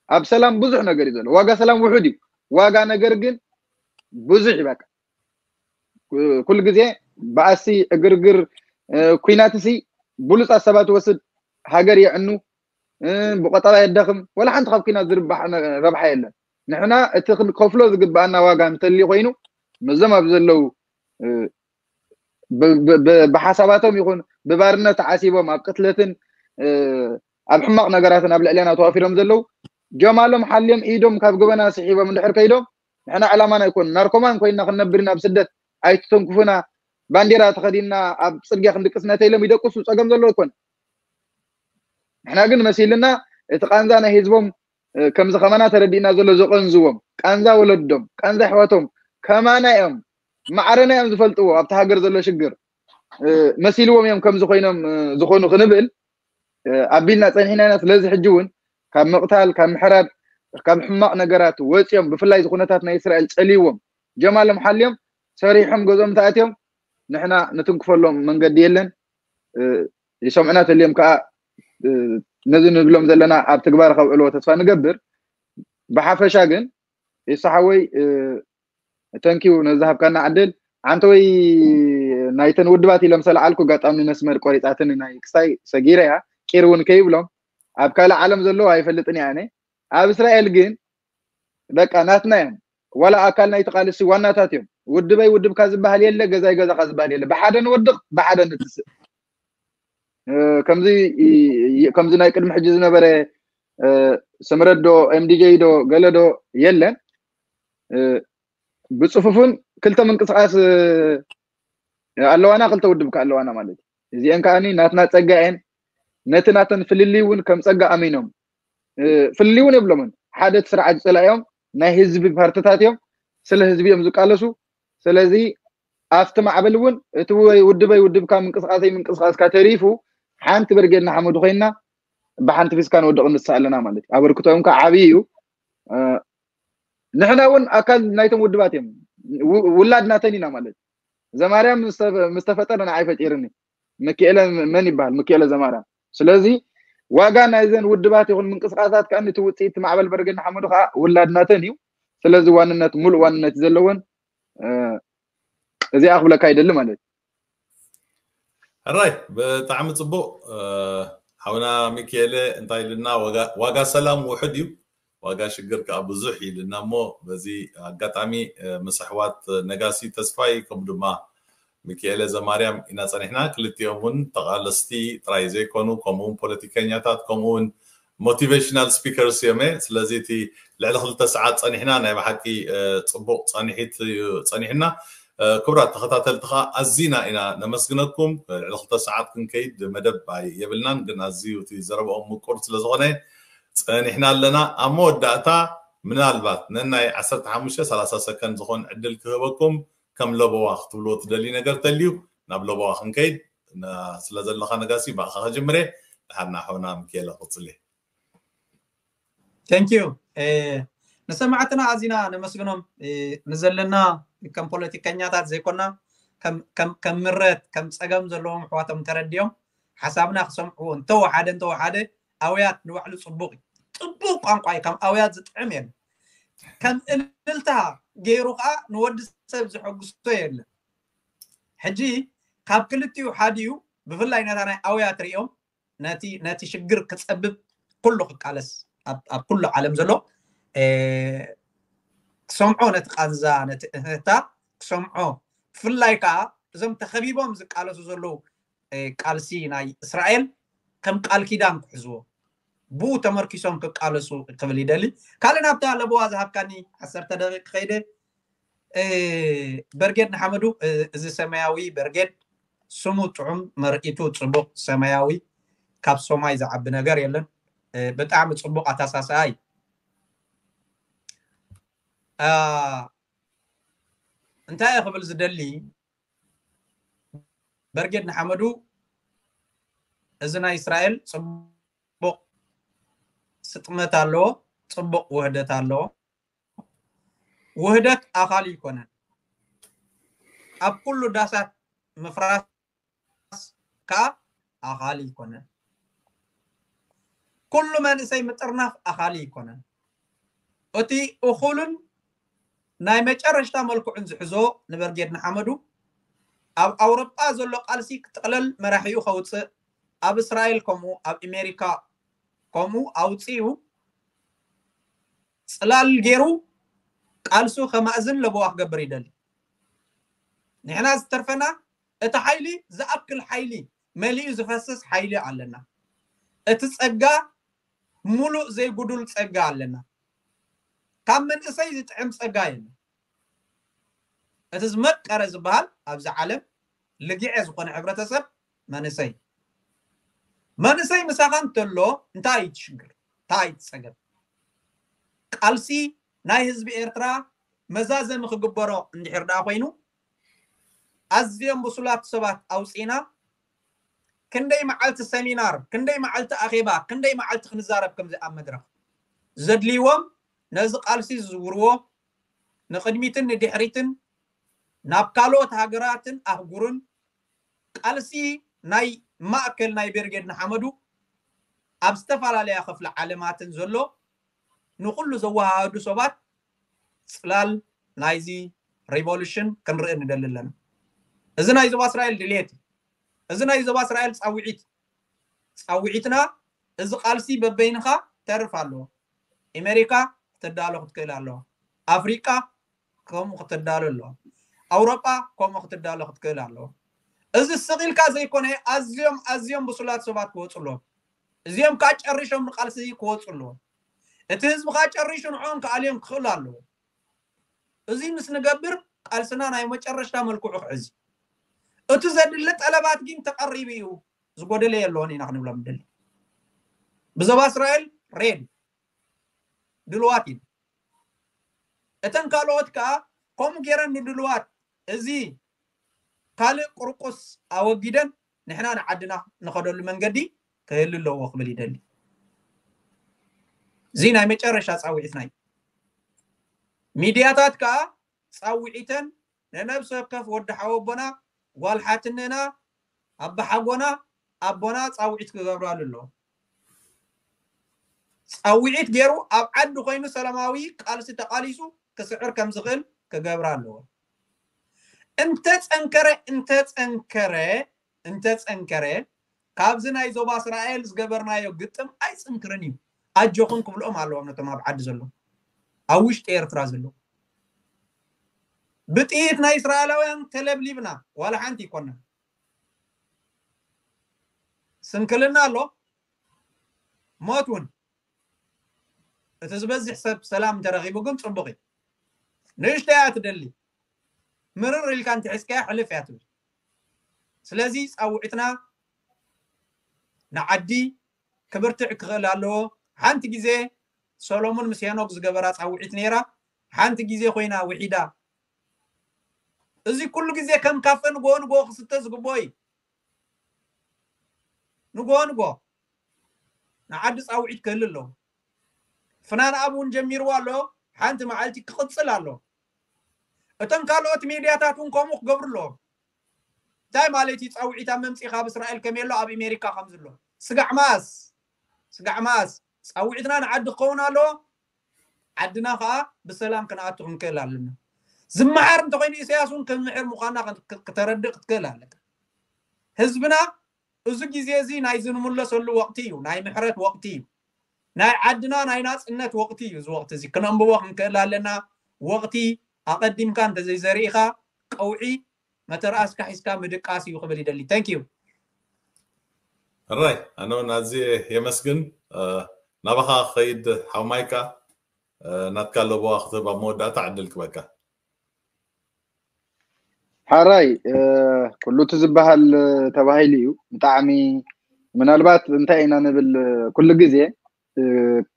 ኣብ ሰላም ብዙሕ ነገር እዩ ዘሎ። ዋጋ ሰላም ውሑድ እዩ። ዋጋ ነገር ግን ብዙሕ እዩ። በቃ ኩሉ ግዜ ባእሲ ዕግርግር ኩናትሲ ብሉፃት ሰባት ወስድ ሃገር የዕኑ ብቆጠባ የዳኽም ወላ ሓንቲ ካብ ኩናት ዝርባሕ ረብሓ የለን። ንሕና እቲ ክንከፍሎ ዝግባኣና ዋጋ እንተልዩ ኮይኑ መዞም ኣብ ዘለዉ ብሓሳባቶም ይኹን ብባርነት ተዓሲቦም ኣብ ቅትለትን ኣብ ሕማቕ ነገራትን ኣብ ልዕሌና ተዋፊሮም ዘለዉ ጀማሎም ሓልዮም ኢዶም ካብ ገበና ስሒቦም እንድሕር ከይዶም ንሕና ዕላማና ኣይኮኑ ናርኮማን ኮይና ክንነብር ኢና ኣብ ስደት ኣይትተንኩፉና ባንዴራ ተኸዲና ኣብ ፅርግያ ክንድቅስ ነተ ኢሎም ይደቅሱ ፀገም ዘለዎ ኣይኮነ። ንሕና ግን መሲልና እቲ ቃንዛ ናይ ህዝቦም ከምዚ ከማና ተረዲእና ዘሎ ዘቐንዝዎም ቃንዛ ወለዶም ቃንዛ ኣሕዋቶም ከማና እዮም ማዕረና እዮም ዝፈልጥዎ ኣብቲ ሃገር ዘሎ ሽግር መሲልዎም እዮም ከምዚ ኮይኖም ዝኾኑ ክንብል ኣቢልና ፀኒሕና ኢና። ስለዚ ሕጂ እውን ካብ ምቕታል ካብ ምሕራድ ካብ ሕማቕ ነገራት ወፂኦም ብፍላይ እዚ ኩነታት ናይ እስራኤል ፀልይዎም ጀማሎም ሓልዮም ሰሪሖም ገዝኦም ተኣትዮም ንሕና ንትንክፈሎም መንገዲ የለን። ይሰምዑና ተልዮም ከዓ ነዚ ንብሎም ዘለና ኣብ ትግባር ከብዕልዎ ተስፋ ንገብር። ብሓፈሻ ግን ይስሓወይ ተንኪው ነዝሃብካና ዕድል። ኣንተ ወይ ናይተን ውድባት ኢሎም ሰለዓልኩ ኣጋጣሚ ነስመር ቆሪፃትን ናይ ክስታይ ሰጊረ እያ ቂር እውን ከይብሎም ኣብ ካልእ ዓለም ዘለዎ ኣይፈልጥን እያ ኣነ ኣብ እስራኤል ግን በቃ ናትና እዮም ዋላ ኣካል ናይቲ ቃልሲ ዋናታት እዮም። ውድበይ ውድብካ ዝበሃል የለ ገዛይ ገዛኻ ዝበሃል የለ ብሓደ ንወድቕ ብሓደ ንትስእ። ከምዚ ከምዚ ናይ ቅድሚ ሕጂ ዝነበረ ስምረት ዶ ኤምዲጀይ ዶ ገለ ዶ የለን። ብፅፉፍን ክልተ ምንቅስቃስ ኣለዋና ክልተ ውድብ ከ ኣለዋና ማለት እዩ። እዚአን ከዓኒ ናትና ፀጋ እየን። ነቲ ናተን ፍልልይ እውን ከም ፀጋ ኣሚኖም ፍልልይ እውን የብሎምን። ሓደ እቲ ስርዓት ዝፀላእዮም ናይ ህዝቢ ፓርትታት እዮም። ስለ ህዝቢ እዮም ዝቃለሱ። ስለዚ ኣብቲ ማዕበል እውን እቲ ውድበይ ውድብካ ምንቅስቃሰይ ምንቅስቃስካ ተሪፉ ሓንቲ ብርጌድ ንሓመዱ ኮይንና ብሓንቲ ፊስካ ንወድቕ ንሳ ኣለና ማለት እዩ። ኣበርክቶኦም ከዓ ዓብዪ እዩ። ንሕና እውን ኣካል ናይቶም ውድባት እዮም። ውላድ ናተን ኢና ማለት እዩ። ዘማርያም ምስ ተፈጠረ ንዓይ ፈጢርኒ ምክኤለ መን ይበሃል? ምክኤለ ዘማርያም። ስለዚ ዋጋ ናይዘን ውድባት ይኹን ምንቅስቃሳት ከዓ ነቲ ውፅኢት ማዕበል በርጌድ ንሓመዱ ከዓ ውላድናተን እዩ። ስለዚ ዋንነት፣ ሙሉእ ዋንነት ዘለወን እዚኣ ክብለካ ይደሊ ማለት እዩ። ሕራይ ብጣዕሚ ፅቡቅ። ሓውና ሚካኤለ እንታይ ኢልና፣ ዋጋ ሰላም ውሕድ እዩ፣ ዋጋ ሽግር ከዓ ብዙሕ ኢልና። እሞ በዚ ኣጋጣሚ ምስ ኣሕዋት ነጋሲ ተስፋይ ከምኡ ድማ ሚካኤለ ዘማርያም ኢና ፀኒሕና። ክልቲኦም እውን ተቓለስቲ ጥራይ ዘይኮኑ፣ ከምኡውን ፖለቲከኛታት፣ ከምኡውን ሞቲቬሽናል ስፒከርስ እዮም። ስለዚ እቲ ልዕሊ ክልተ ሰዓት ፀኒሕና፣ ናይ ብሓቂ ፅቡቅ ፀኒሒት እዩ ፀኒሕና። ክቡራት ተኸታተልቲ ከዓ ኣዚና ኢና ነመስግነኩም። ልዕሊ ክልተ ሰዓት ክንከይድ መደብ የብልናን፣ ግን ኣዝዩ እቲ ዘረብኦም ምቁር ስለዝኾነ ፀኒሕና ኣለና። ኣብ መወዳእታ ምናልባት ነናይ ዓሰርተ ሓሙሽተ ሰላሳ ሰከንድ ዝኾን ዕድል ክህበኩም፣ ከም ለበዋ ክትብልዎ ትደልዩ ነገር ተልዩ ናብ ለበዋ ክንከይድ ስለ ዘለኻ ነጋሲ ብኣኻ ከጅምረ። ድሓር ናሖና ምክኤለ ክፅሊ። Thank you። ንሰማዕትና ኣዚና ነመስግኖም። ንዘለና ከም ፖለቲከኛታት ዘይኮና ከም ምረት ከም ፀገም ዘለዎም ኣሕዋቶም ተረዲኦም ሓሳብና ክሰምዕዎ እንተወሓደ እንተወሓደ ኣውያት ንባዕሉ ፅቡቅ እዩ። ፅቡቅ ቋንቋ እዩ። ከም ኣውያት ዝጥዕም የለን። ከም እልልታ ገይሩ ከዓ ንወዲ ሰብ ዘሐጉሶ የለን። ሕጂ ካብ ክልቲኡ ሓዲኡ ብፍላይ ነታ ናይ ኣውያት ሪኦም ነቲ ነቲ ሽግር ክፀብብ ኩሉ ክቃለስ ኣብ ኩሉ ዓለም ዘሎ ክሰምዖ ነቲ ቃንዛ ነቲ እህታ ክሰምዖ ብፍላይ ከዓ እዞም ተኸቢቦም ዝቃለሱ ዘለዉ ቃልሲ ናይ እስራኤል ከም ቃል ኪዳን ክሕዝዎ ብኡ ተመርኪሶም ክቃለሱ ክብል ይደሊ። ካልእ ናብታ ለበዋ ዝሃብካኒ ዓሰርተ ደቂቅ ከይደ በርጌድ ንሓመዱ እዚ ሰማያዊ በርጌድ ስሙ ጥዑም መርኢቱ ፅቡቅ ሰማያዊ ካብ ሶማይ ዝዓቢ ነገር የለን። ብጣዕሚ ፅቡቅ ኣተሳስኣ እዩ። እንታይ እየ ክብል ዝደሊ በርጌድ ንሓመዱ እዚ ናይ እስራኤል ፅቡቅ ስጥመት ኣለዎ፣ ፅቡቅ ውህደት ኣለዎ። ውህደት ኣኻሊ ይኮነን። ኣብ ኩሉ ዳሳት ምፍራስ ከዓ ኣኻሊ ይኮነን። ኩሉ መንእሰይ ምጥርናፍ ኣኻሊ ይኮነን። እቲ እኹልን ናይ መጨረሽታ መልክዑን ዝሕዞ ንበርጌድ ንሓመዱ ኣብ ኣውሮጳ ዘሎ ቃልሲ ክጥቕለል መራሒኡ ከውፅእ ኣብ እስራኤል ከምኡ ኣብ ኣሜሪካ ከምኡ ኣውፅኡ ፅላል ገይሩ ቃልሱ ከማእዝን ለበዋ ክገብር ይደሊ። ንሕና ዝተርፈና እቲ ሓይሊ ዝኣክል ሓይሊ መሊኡ ዝፈስስ ሓይሊ ኣለና። እቲ ፀጋ ሙሉእ ዘይጉዱል ፀጋ ኣለና። ካብ መንእሰይ ዝጥዕም ፀጋ የለን። እቲ ዝመቀረ ዝበሃል ኣብዚ ዓለም ልግዐ ዝኾነ ሕብረተሰብ መንእሰይ መንእሰይ ምሳኻ እንተሎ እንታይ እዩ ትሽግር? እንታይ እዩ ትፀገም? ቃልሲ ናይ ህዝቢ ኤርትራ መዛዘሚ ክግበሮ እንድሕር ደኣ ኮይኑ ኣዝዮም ብሱላት ሰባት ኣውፂና ክንደይ መዓልቲ ሰሚናር ክንደይ መዓልቲ ኣኼባ ክንደይ መዓልቲ ክንዛረብ ከምዚ ኣብ መድረኽ ዘድልይዎም ነዚ ቃልሲ ዝዝውርዎ ንቕድሚትን ንድሕሪትን ናብ ካልኦት ሃገራትን ኣህጉርን ቃልሲ ናይ ማእከል ናይ ቤርጌድ ንሓመዱ ኣብ ዝተፈላለያ ክፍሊ ዓለማትን ዘሎ ንኩሉ ዘወሃሃዱ ሰባት ፅላል ናይዚ ሪቮሉሽን ክንርኢ ንደሊ ኣለና። እዚ ናይ ዞባ እስራኤል ድሌት እዩ። እዚ ናይ ዞባ እስራኤል ፃውዒት ፃውዒትና እዚ ቃልሲ በበይንኻ ተርፍ ኣለዎ። ኣሜሪካ ክትዳሎ ክትክእል ኣለዋ። ኣፍሪቃ ከምኡ ክትዳሎ ኣለዋ። ኣውሮጳ ከምኡ ክትዳሎ ክትክእል ኣለዋ። እዚ ስቕ ኢልካ ዘይኮነ ኣዝዮም ኣዝዮም ብሱላት ሰባት ክወፁ ኣለዎም። እዚኦም ከዓ ጨሪሾም ንቃልሲ ክወፁ ኣለዎም። እቲ ህዝቢ ከዓ ጨሪሹ ንዕኦም ክኣልዮም ክኽእሉ ኣለዎ። እዚ ምስ ንገብር ቃልስና ናይ መጨረሽታ መልክዑ ክሕዝ እቲ ዘድሊ ጠለባት ግን ተቐሪቡ እዩ። ዝጎደለ የለዎን ኢና ክንብሎም ንደሊ። ብዞባ እስራኤል ሬድ ድልዋት ኢና። እተን ካልኦት ከዓ ከምኡ ገይረን ንድልዋት እዚ ካልእ ቁርቁስ ኣወጊደን ንሕና ንዓድና ንኸደሉ መንገዲ ክህሉ ኣለዎ ክብል ይደሊ። እዚ ናይ መጨረሻ ፃውዒትና እዩ። ሚድያታት ከዓ ፃውዒተን ንነብሲ ወከፍ ወዲ ሓወቦና ጓል ሓትንና ኣባሓጎና ኣቦና ፃውዒት ክገብራሉ ኣለዎ። ፃውዒት ገይሩ ኣብ ዓዲ ኮይኑ ሰላማዊ ቃልሲ ተቃሊሱ ክስዕር ከም ዝኽእል ክገብራ ኣለዎ። እንተፀንከረ እንተፀንከረ እንተፀንከረ ካብዚ ናይ ዞባ እስራኤል ዝገበርናዮ ግጥም ኣይፅንክርን እዩ። ኣጆኹም ክብልኦም ኣለዎም ነቶም ኣብ ዓዲ ዘለዉ፣ ኣብ ውሽጢ ኤርትራ ዘለዉ። ብጥይት ናይ እስራኤላውያን ተለብሊብና ዋላ ሓንቲ ይኮና። ስንክልና ኣሎ፣ ሞት እውን። እቲ ዝበዝሕ ሰብ ሰላም እንተረኺቡ ግን ፅቡቕ እዩ። ንእሽተይ እያ ትደሊ፣ ምርር ኢልካ እንተሒዝካያ ሕልፍ እያ ትብል። ስለዚ ፃውዒትና ንዓዲ ክብርትዕ ክኽእል ኣለዎ። ሓንቲ ግዜ ሰሎሞን ምስ ሄኖክ ዝገበራ ፃውዒት ነይራ፣ ሓንቲ ግዜ ኮይና ውሒዳ። እዚ ኩሉ ግዜ ከም ካፈ ንጎ ንጎ ክስተ ዝግብኦ እዩ። ንጎ ንጎ ንዓዲ ፃውዒት ክህል ኣለዎ። ፍናን ኣብ እውን ጀሚርዎ ኣሎ፣ ሓንቲ መዓልቲ ክቕፅል ኣሎ። እቶም ካልኦት ሜድያታት እውን ከምኡ ክገብሩ ኣለዎም። እንታይ ማለት እዩ? ፃውዒት ኣብ መምፅኢ ካብ እስራኤል ከመይ ኣሎ ኣብ ኣሜሪካ ከም ዘሎ ስጋዕ ማስ ስጋዕ ማስ ፃውዒትና ንዓዲ ክኸውን ኣለዎ። ዓድና ከዓ ብሰላም ክንኣቱ ክንክእል ኣለና። ዝመሓር እንተኮይኑ ኢሳያስ እውን ክምሕር ምዃና ክተረድእ ክትክእል ኣለካ። ህዝብና እዚ ግዜ እዚ ናይ ዝንምለሰሉ ወቅቲ እዩ። ናይ ምሕረት ወቅቲ እዩ። ናይ ዓድና ናይ ናፅነት ወቅቲ እዩ። እዚ ወቅቲ እዚ ክነንብቦ ክንክእል ኣለና። ወቅቲ ኣቐዲምካ እንተዘይዘሪእኻ ቀውዒ መተርኣስካ ሒዝካ ምድቃስ እዩ ክብል ይደሊ። Thank you። ሕራይ ኣነ እውን ኣዝየ የመስግን። ናባኻ ክኸይድ ሓው ማይካ ናትካ ኣለዎ ክትህብ ኣብ መወዳእታ ዕድል ክበካ። ሓራይ ኩሉ እቲ ዝበሃል ተባሂሉ እዩ። ብጣዕሚ ምናልባት እንታይ ኢና ንብል ኩሉ ግዜ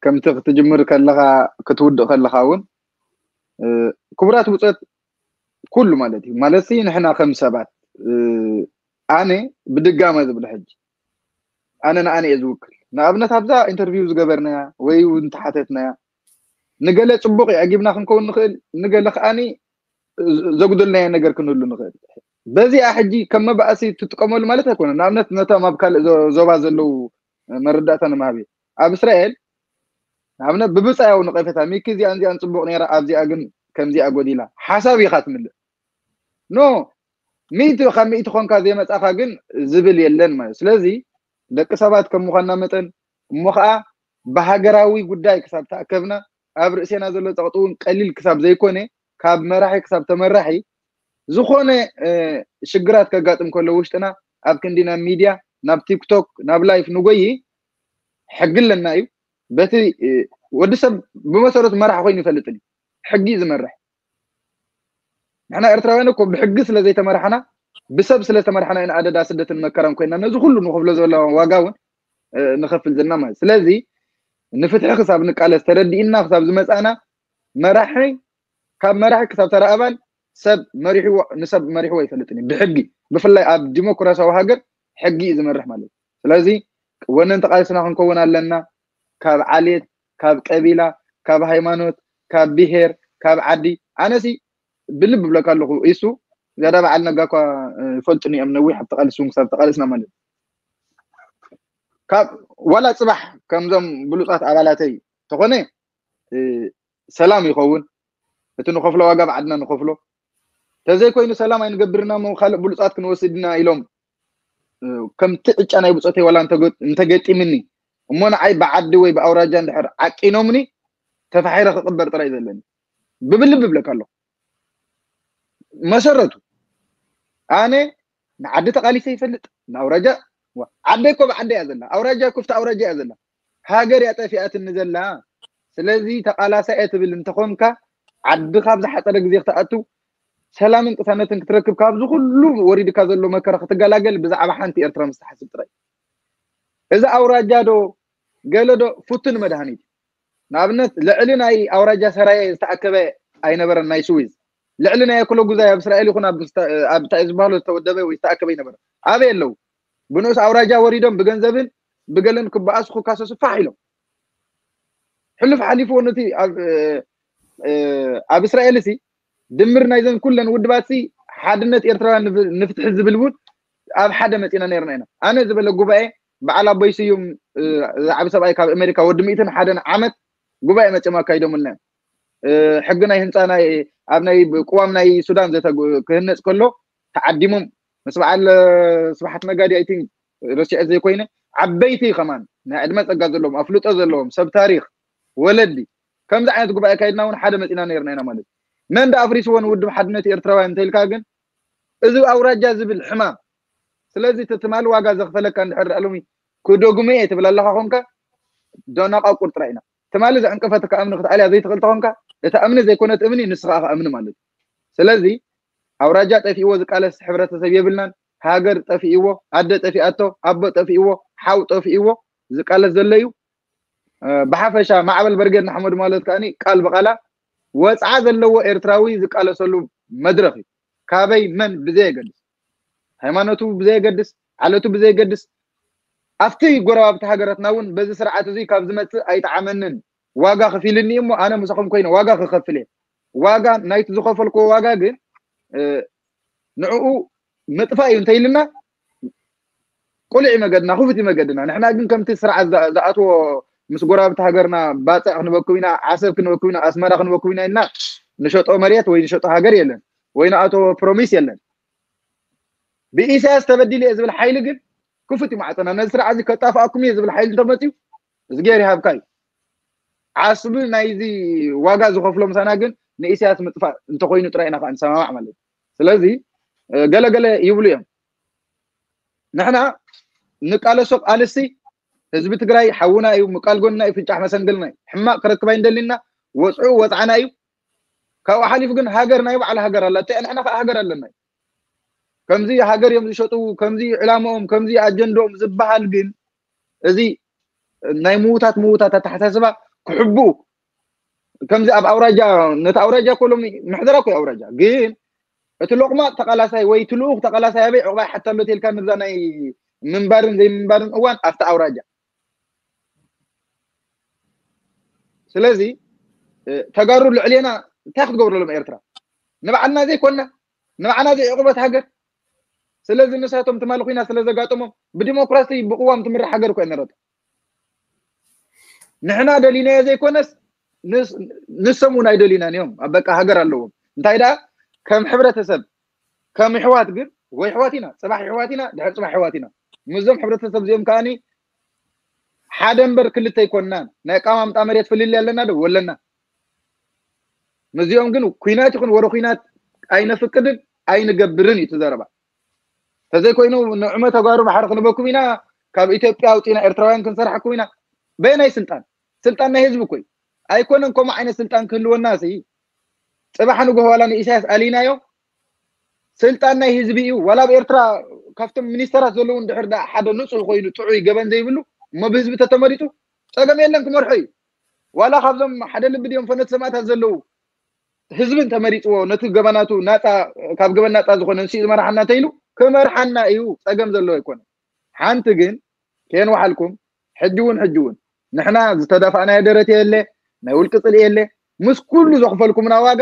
ከምቲ ክትጅምር ከለኻ ክትውድእ ከለኻ እውን ክቡራት ብፆት ኩሉ ማለት እዩ ማለት ንሕና ከም ሰባት ኣነ ብድጋመ ዝብል ሕጂ ኣነ ንኣነ እየ ዝውክል። ንኣብነት ኣብዛ ኢንተርቪው ዝገበርናያ ወይ እውን ተሓተትናያ ንገለ ፅቡቅ እዩ ኣጊብና ክንከውን ንኽእል፣ ንገለ ከዓኒ ዘጉደልናዮ ነገር ክንህሉ ንኽእል። በዚኣ ሕጂ ከም መባእሲ ትጥቀመሉ ማለት ኣይኮነ። ንኣብነት ነቶም ኣብ ካልእ ዞባ ዘለዉ መረዳእታ ንምሃብ ኣብ እስራኤል ንኣብነት ብብፃያዊ ነቐፌታ ሚኪ እዚኣን እዚኣን ፅቡቅ ነይራ ኣብዚኣ ግን ከምዚኣ ጎዲላ ሓሳብ ኢኻ ትምልእ ኖ ሚእቲ ካብ ሚእቲ ኮንካ ዘይመፃኻ ግን ዝብል የለን ማለት ስለዚ ደቂ ሰባት ከም ምኳንና መጠን እሞ ከዓ ብሃገራዊ ጉዳይ ክሳብ ተኣከብና ኣብ ርእሴና ዘሎ ፀቕጢ እውን ቀሊል ክሳብ ዘይኮነ ካብ መራሒ ክሳብ ተመራሒ ዝኾነ ሽግራት ከጋጥም ከሎ ውሽጥና ኣብ ክንዲ ናብ ሚድያ ናብ ቲክቶክ ናብ ላይፍ ንጎይ ሕጊ ኣለና እዩ በቲ ወዲ ሰብ ብመሰረቱ መራሕ ኮይኑ ይፈልጥን እዩ ሕጊ እዩ ዝመርሕ ንሕና ኤርትራውያን እኮ ብሕጊ ስለ ዘይተመራሕና ብሰብ ስለ ዝተመራሕና ኢና ኣደዳ ስደትን መከራን ኮይና ነዚ ኩሉ ንኸፍሎ ዘሎ ዋጋ እውን ንኸፍል ዘለና ማለት ስለዚ ንፍትሒ ክሳብ ንቃለስ ተረዲእና ክሳብ ዝመፃና መራሒ ካብ መራሒ ክሳብ ተራ ኣባል ሰብ መሪሕዎ ንሰብ መሪሕዎ ይፈልጥን እዩ ብሕጊ ብፍላይ ኣብ ዲሞክራሲያዊ ሃገር ሕጊ እዩ ዝመርሕ ማለት እዩ ስለዚ ወነንቲ ቃልስና ክንከውን ኣለና ካብ ዓሌት ካብ ቀቢላ ካብ ሃይማኖት ካብ ብሄር ካብ ዓዲ ኣነሲ ብልብ ብለካ ኣለኹ ኢሱ ዝያዳ በዓል ነጋ እኳ ይፈልጡኒ እዮም ነዊሕ ኣብ ተቃልሱ ክሳብ ተቃልስና ማለት ካብ ዋላ ፅባሕ ከምዞም ብሉፃት ኣባላተይ ተኾነ ሰላም ይኸውን እቲ ንኸፍሎ ዋጋ ብዓድና ንኸፍሎ ተዘይኮይኑ ሰላም ኣይንገብርና ሞ ካልእ ብሉፃት ክንወስድና ኢሎም ከምቲ ዕጫ ናይ ብፆተይ ዋላ እንተገጢምኒ እሞ ንዓይ ብዓዲ ወይ ብኣውራጃ እንድሕር ዓቂኖምኒ ተፋሒረ ክቕበር ጥራይ ዘለኒ ብብልብ ብለካ ኣለኹ መሰረቱ ኣነ ንዓዲ ተቃሊሰ ይፈልጥ ንኣውራጃ ዓደይ እኮ ብዓደ እያ ዘላ ኣውራጃ ክፍቲ ኣውራጃ እያ ዘላ ሃገር እያ ጠፊኣትኒ ዘላ ስለዚ ተቃላሳይ እየ ትብል እንተኾንካ ዓድኻ ኣብ ዝሓፀረ ግዜ ክትኣቱ ሰላምን ቅሳነትን ክትረክብ ካብዚ ኩሉ ወሪድካ ዘሎ መከራ ክትገላገል ብዛዕባ ሓንቲ ኤርትራ ምስ ትሓስብ ጥራይ እዚ ኣውራጃ ዶ ገለ ዶ ፍቱን መድሃኒት ንኣብነት ልዕሊ ናይ ኣውራጃ ሰራየ ዝተኣከበ ኣይነበረን ናይ ስዊዝ ልዕሊ ናይ ኣክሎ ጉዛይ ኣብ እስራኤል ይኹን ኣብ እንታይ ዝበሃሎ ዝተወደበ ወይ ዝተኣከበ ኣይነበረ ኣበይ ኣለዉ ብንኡስ ኣውራጃ ወሪዶም ብገንዘብን ብገለን ክበኣሱ ክካሰሱ ፋሕ ኢሎም ሕሉፍ ሓሊፍዎ ነቲ ኣብ እስራኤል ሲ ድምር ናይዘን ኩለን ውድባት ሲ ሓድነት ኤርትራውያን ንፍትሒ ዝብል እውን ኣብ ሓደ መፂና ነርና ኢና። ኣነ ዝበለ ጉባኤ በዓል ኣቦይ ስዩም ዝዓብ ሰብኣይ ካብ ኣሜሪካ ወዲ ሚእትን ሓደን ዓመት ጉባኤ መፅኦም ኣካይዶምልና እዮም። ሕጊ ናይ ህንፃ ናይ ኣብ ናይ ቅዋም ናይ ሱዳን ክህነፅ ከሎ ተዓዲሞም ምስ በዓል ስብሓት ነጋዲ ኣይቲን ረሲዐ ዘይኮይነ ዓበይቲ ከማን ናይ ዕድመ ፀጋ ዘለዎም ኣፍልጦ ዘለዎም ሰብ ታሪክ ወለዲ ከምዚ ዓይነት ጉባኤ ካይድና እውን ሓደ መፂና ነርና ኢና ማለት እዩ። መን ዳ ኣፍሪስዎ ንውድብ ሓድነት ኤርትራውያን እንተኢልካ ግን እዚ ኣውራጃ ዝብል ሕማም። ስለዚ እቲ ትማሊ ዋጋ ዘኽፈለካ እንድሕር ዳኣ ሎሚ ክደግሞ እየ ትብል ኣለኻ ኮንካ ዶናቃ ቁርጥራ ኢና። ትማሊ ዘዕንቀፈትካ እምኒ ክትኣልያ ዘይትኽእል ተኾንካ እታ እምኒ ዘይኮነት እምኒ ንስኻ ኢኻ እምኒ ማለት እዩ። ስለዚ ኣውራጃ ጠፊእዎ ዝቃለስ ሕብረተሰብ የብልናን። ሃገር ጠፊእዎ፣ ኣደ ጠፊኣቶ፣ ኣቦ ጠፊእዎ፣ ሓው ጠፊእዎ ዝቃለስ ዘሎ እዩ። ብሓፈሻ ማዕበል በርጌድ ንሓመዱ ማለት ከኣ ቃል ብቃላ ወፅዓ ዘለዎ ኤርትራዊ ዝቃለሰሉ መድረክ እዩ። ካበይ መን ብዘየገድስ፣ ሃይማኖቱ ብዘየገድስ፣ ዓለቱ ብዘየገድስ ኣብቲ ጎረባብቲ ሃገራትና እውን በዚ ስርዓት እዚ ካብ ዝመፅእ ኣይጠዓመንን ዋጋ ከፊልኒ እሞ ኣነ ምሳኹም ኮይነ ዋጋ ክኸፍል እየ። ዋጋ ናይቲ ዝኸፈልክዎ ዋጋ ግን ንዕኡ ምጥፋእ እዩ እንተኢልና ቁሉዕ እዩ መገድና፣ ክፉት እዩ መገድና። ንሕና ግን ከምቲ ስርዓት ዝኣትዎ ምስ ጎረባብቲ ሃገርና ባፅዕ ክንበክብ ኢና፣ ዓሰብ ክንበክብ ኢና፣ ኣስመራ ክንበክብ ኢና ኢልና ንሸጦ መሬት ወይ ንሸጦ ሃገር የለን ወይ ንኣቶ ፕሮሚስ የለን። ብኢሳያስ ተበዲሉ እየ ዝብል ሓይሊ ግን ክፉት እዩ ማዕፀና። ነዚ ስርዓት እዚ ከጣፍኣኩም እየ ዝብል ሓይሊ እንተመፅዩ እዝጌር ይሃብካ እዩ። ዓስቢ ናይዚ ዋጋ ዝኸፍሎ ምሳና ግን ንኢሳያስ ምጥፋእ እንተኮይኑ ጥራይ ኢና ከዓ ንሰማማዕ ማለት እዩ። ስለዚ ገለገለ ይብሉ እዮም። ንሕና ንቃለሶ ቃልሲ ህዝቢ ትግራይ ሓውና እዩ፣ ምቃል ጎንና እዩ፣ ፍንጫሕ መሰንገልና እዩ። ሕማቅ ክረክብ ኣይንደሊና፣ ወፅዑ ወፅዓና እዩ። ካብኡ ሓሊፉ ግን ሃገር ናይ ባዕሉ ሃገር ኣላ፣ ንሕና ከዓ ሃገር ኣለና እዩ። ከምዚ ሃገር እዮም ዝሸጡ፣ ከምዚ ዕላማኦም፣ ከምዚ ኣጀንዳኦም ዝበሃል ግን እዚ ናይ ምውታት ምውታት ኣተሓሳስባ ክሕብኡ ከምዚ ኣብ ኣውራጃ ነቲ ኣውራጃ እኮ ሎሚ ምሕደራ እኮ ኣውራጃ ግን እቲ ሎቕማጥ ተቓላሳይ ወይ እቲ ልኡኽ ተቓላሳይ ኣበይ ዕቑባ ይሓታ ኣሎ ተልካ ንዛ ናይ ምንባርን ዘይምንባርን እዋን ኣብቲ ኣውራጃ። ስለዚ ተጋሩ ልዕሌና እንታይ ክትገብረሎም ኤርትራ ንባዕልና ዘይኮንና ንባዕና ዘይዕቑበት ሃገር። ስለዚ ንሳቶም ትማሊ ኩናት ስለ ዘጋጠሞም ብዲሞክራሲ ብቅዋም ትምራሕ ሃገር እኮ ነረቶ። ንሕና ደሊናዮ ዘይኮነስ ንሶም እውን ኣይደሊናን እዮም። ኣብ በቃ ሃገር ኣለዎም። እንታይ ደኣ ከም ሕብረተሰብ ከም ይሕዋት ግን ወይ ይሕዋት ኢና፣ ፅባሕ ይሕዋት ኢና፣ ድሕር ፅባሕ ይሕዋት ኢና። ምስዞም ሕብረተሰብ እዚኦም ከዓኒ ሓደ እምበር ክልተ ኣይኮንናን። ናይ ኣቀማምጣ መሬት ፍልልይ ኣለና ዶ? ወለና። ምስዚኦም ግን ኩናት ይኹን ወረ ኩናት ኣይነፍቅድን ኣይንገብርን እዩ እቲ ዘረባ። ተዘይኮይኑ ንዕመ ተጋሩ ባሕሪ ክንበኩም ኢና፣ ካብ ኢትዮጵያ ኣውፂና ኤርትራውያን ክንሰርሓኩም ኢና። በየናይ ስልጣን? ስልጣን ናይ ህዝቢ እኮ እዩ። ኣይኮነን ከምኡ ዓይነት ስልጣን ክህልወና ሲ ፅባሕ ንግሆ ዋላ ንኢሳያስ ኣሊናዮ ስልጣን ናይ ህዝቢ እዩ። ዋላ ኣብ ኤርትራ ካብቶም ሚኒስተራት ዘለዉ እንድሕር ደኣ ሓደ ንፁህ ኮይኑ ጥዑይ ገበን ዘይብሉ እሞ ብህዝቢ ተተመሪጡ ፀገም የለን ክመርሖ እዩ። ዋላ ካብዞም ሓደ ልቢ ድዮም ፈነት ሰማእታት ዘለዉ ህዝቢ እንተመሪፅዎ ነቲ ገበናቱ ናፃ ካብ ገበን ናፃ ዝኾነ ንሱ ዝመርሓና እንተኢሉ ክመርሓና እዩ። ፀገም ዘለዎ ኣይኮነ። ሓንቲ ግን ከየንዋሓልኩም ሕጂ እውን ሕጂ እውን ንሕና ዝተደፋእናዮ ደረት የለ ናይ ውልቂ ፅልኢ የለ ምስ ኩሉ ዘኽፈልኩምና ዋጋ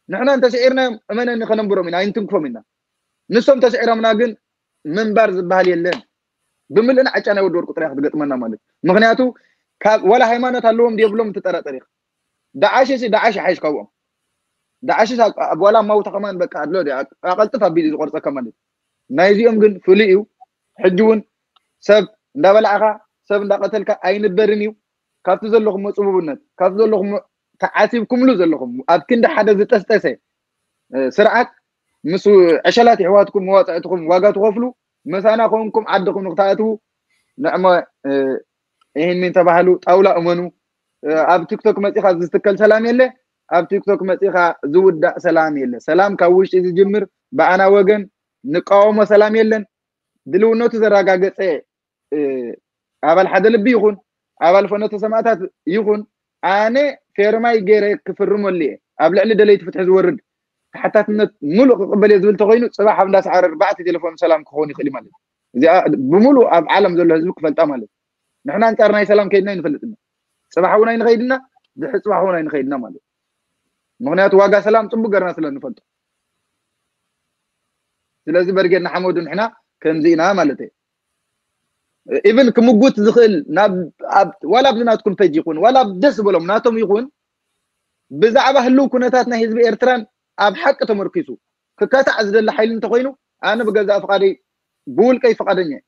ንሕና እንተስዒርናዮም እመነኒ ከነንብሮም ኢና ኣይንትንክፎም ኢና። ንሶም ተስዒሮምና ግን ምንባር ዝበሃል የለን። ብምልእና ዕጫ ናይ ወዲ ወርቁ ጥራይ ክትገጥመና ማለት ምክንያቱ ካብ ዋላ ሃይማኖት ኣለዎም ድየብሎም ትጠራጠር ኢኻ። ዳዓሽ ሲ ዳዓሽ ይሓይሽ ካብኦም። ዳዓሽ ሲ ኣብ ዋላ ማውታ ከማን በቃ ኣድሎ ኣቀልጥፍ ኣቢሉ ዝቆርፀካ ማለት ናይዚኦም ግን ፍሉይ እዩ። ሕጂ እውን ሰብ እንዳበላዕካ ሰብ እንዳቀተልካ ኣይንበርን እዩ። ካብቲ ዘለኹም ፅቡብነት ካብቲ ዘለኹም ተዓሲብኩምሉ ዘለኹም ኣብ ክንዲ ሓደ ዝጠስጠሰ ስርዓት ምስ ዕሸላት የሕዋትኩም መዋፅዕትኩም ዋጋ ትኸፍሉ ምሳና ኮንኩም ዓድኹም ንክትኣትዉ ንዕሞ ይህን ሚን ተባህሉ ጣውላ እመኑ። ኣብ ቲክቶክ መፂኻ ዝትከል ሰላም የለ፣ ኣብ ቲክቶክ መፂኻ ዝውዳእ ሰላም የለ። ሰላም ካብ ውሽጢ ዝጅምር ብኣና ወገን ንቃወሞ ሰላም የለን። ድልውነቱ ዘረጋገፀ ኣባል ሓደ ልቢ ይኹን ኣባል ፈኖተ ሰማእታት ይኹን ኣነ ፌርማይ ገይረ ክፍርመሉ እየ። ኣብ ልዕሊ ደለይቲ ፍትሒ ዝወርድ ተሓታትነት ሙሉእ ክቕበል እየ ዝብል ተኮይኑ ፅባሕ ኣብ እንዳሰዓረ ኣርባዕተ ቴሌፎን ሰላም ክኸውን ይኽእል እዩ ማለት እዩ። እዚኣ ብምሉእ ኣብ ዓለም ዘሎ ህዝቢ ክፈልጣ ማለት እዩ። ንሕና ኣንፃር ናይ ሰላም ከይድና ኣይንፈልጥና። ፅባሕ እውን ኣይንኸይድና፣ ድሕሪ ፅባሕ እውን ኣይንኸይድና ማለት እዩ። ምክንያቱ ዋጋ ሰላም ፅቡቅ ገርና ስለ ንፈልጦ። ስለዚ በርጌድ ንሓመዱ ንሕና ከምዚ ኢና ማለት እዩ። ኢቭን ክምጉት ዝኽእል ናብ ኣብ ዋላ ኣብዚ ናትኩም ፔጅ ይኹን ዋላ ኣብ ደስ ዝበሎም ናቶም ይኹን ብዛዕባ ህልው ኩነታት ናይ ህዝቢ ኤርትራን ኣብ ሓቂ ተመርኪሱ ክካታዕ ዝደሊ ሓይሊ እንተኮይኑ ኣነ ብገዛእ ፍቓደይ ብውልቀይ ፍቓደኛ እየ።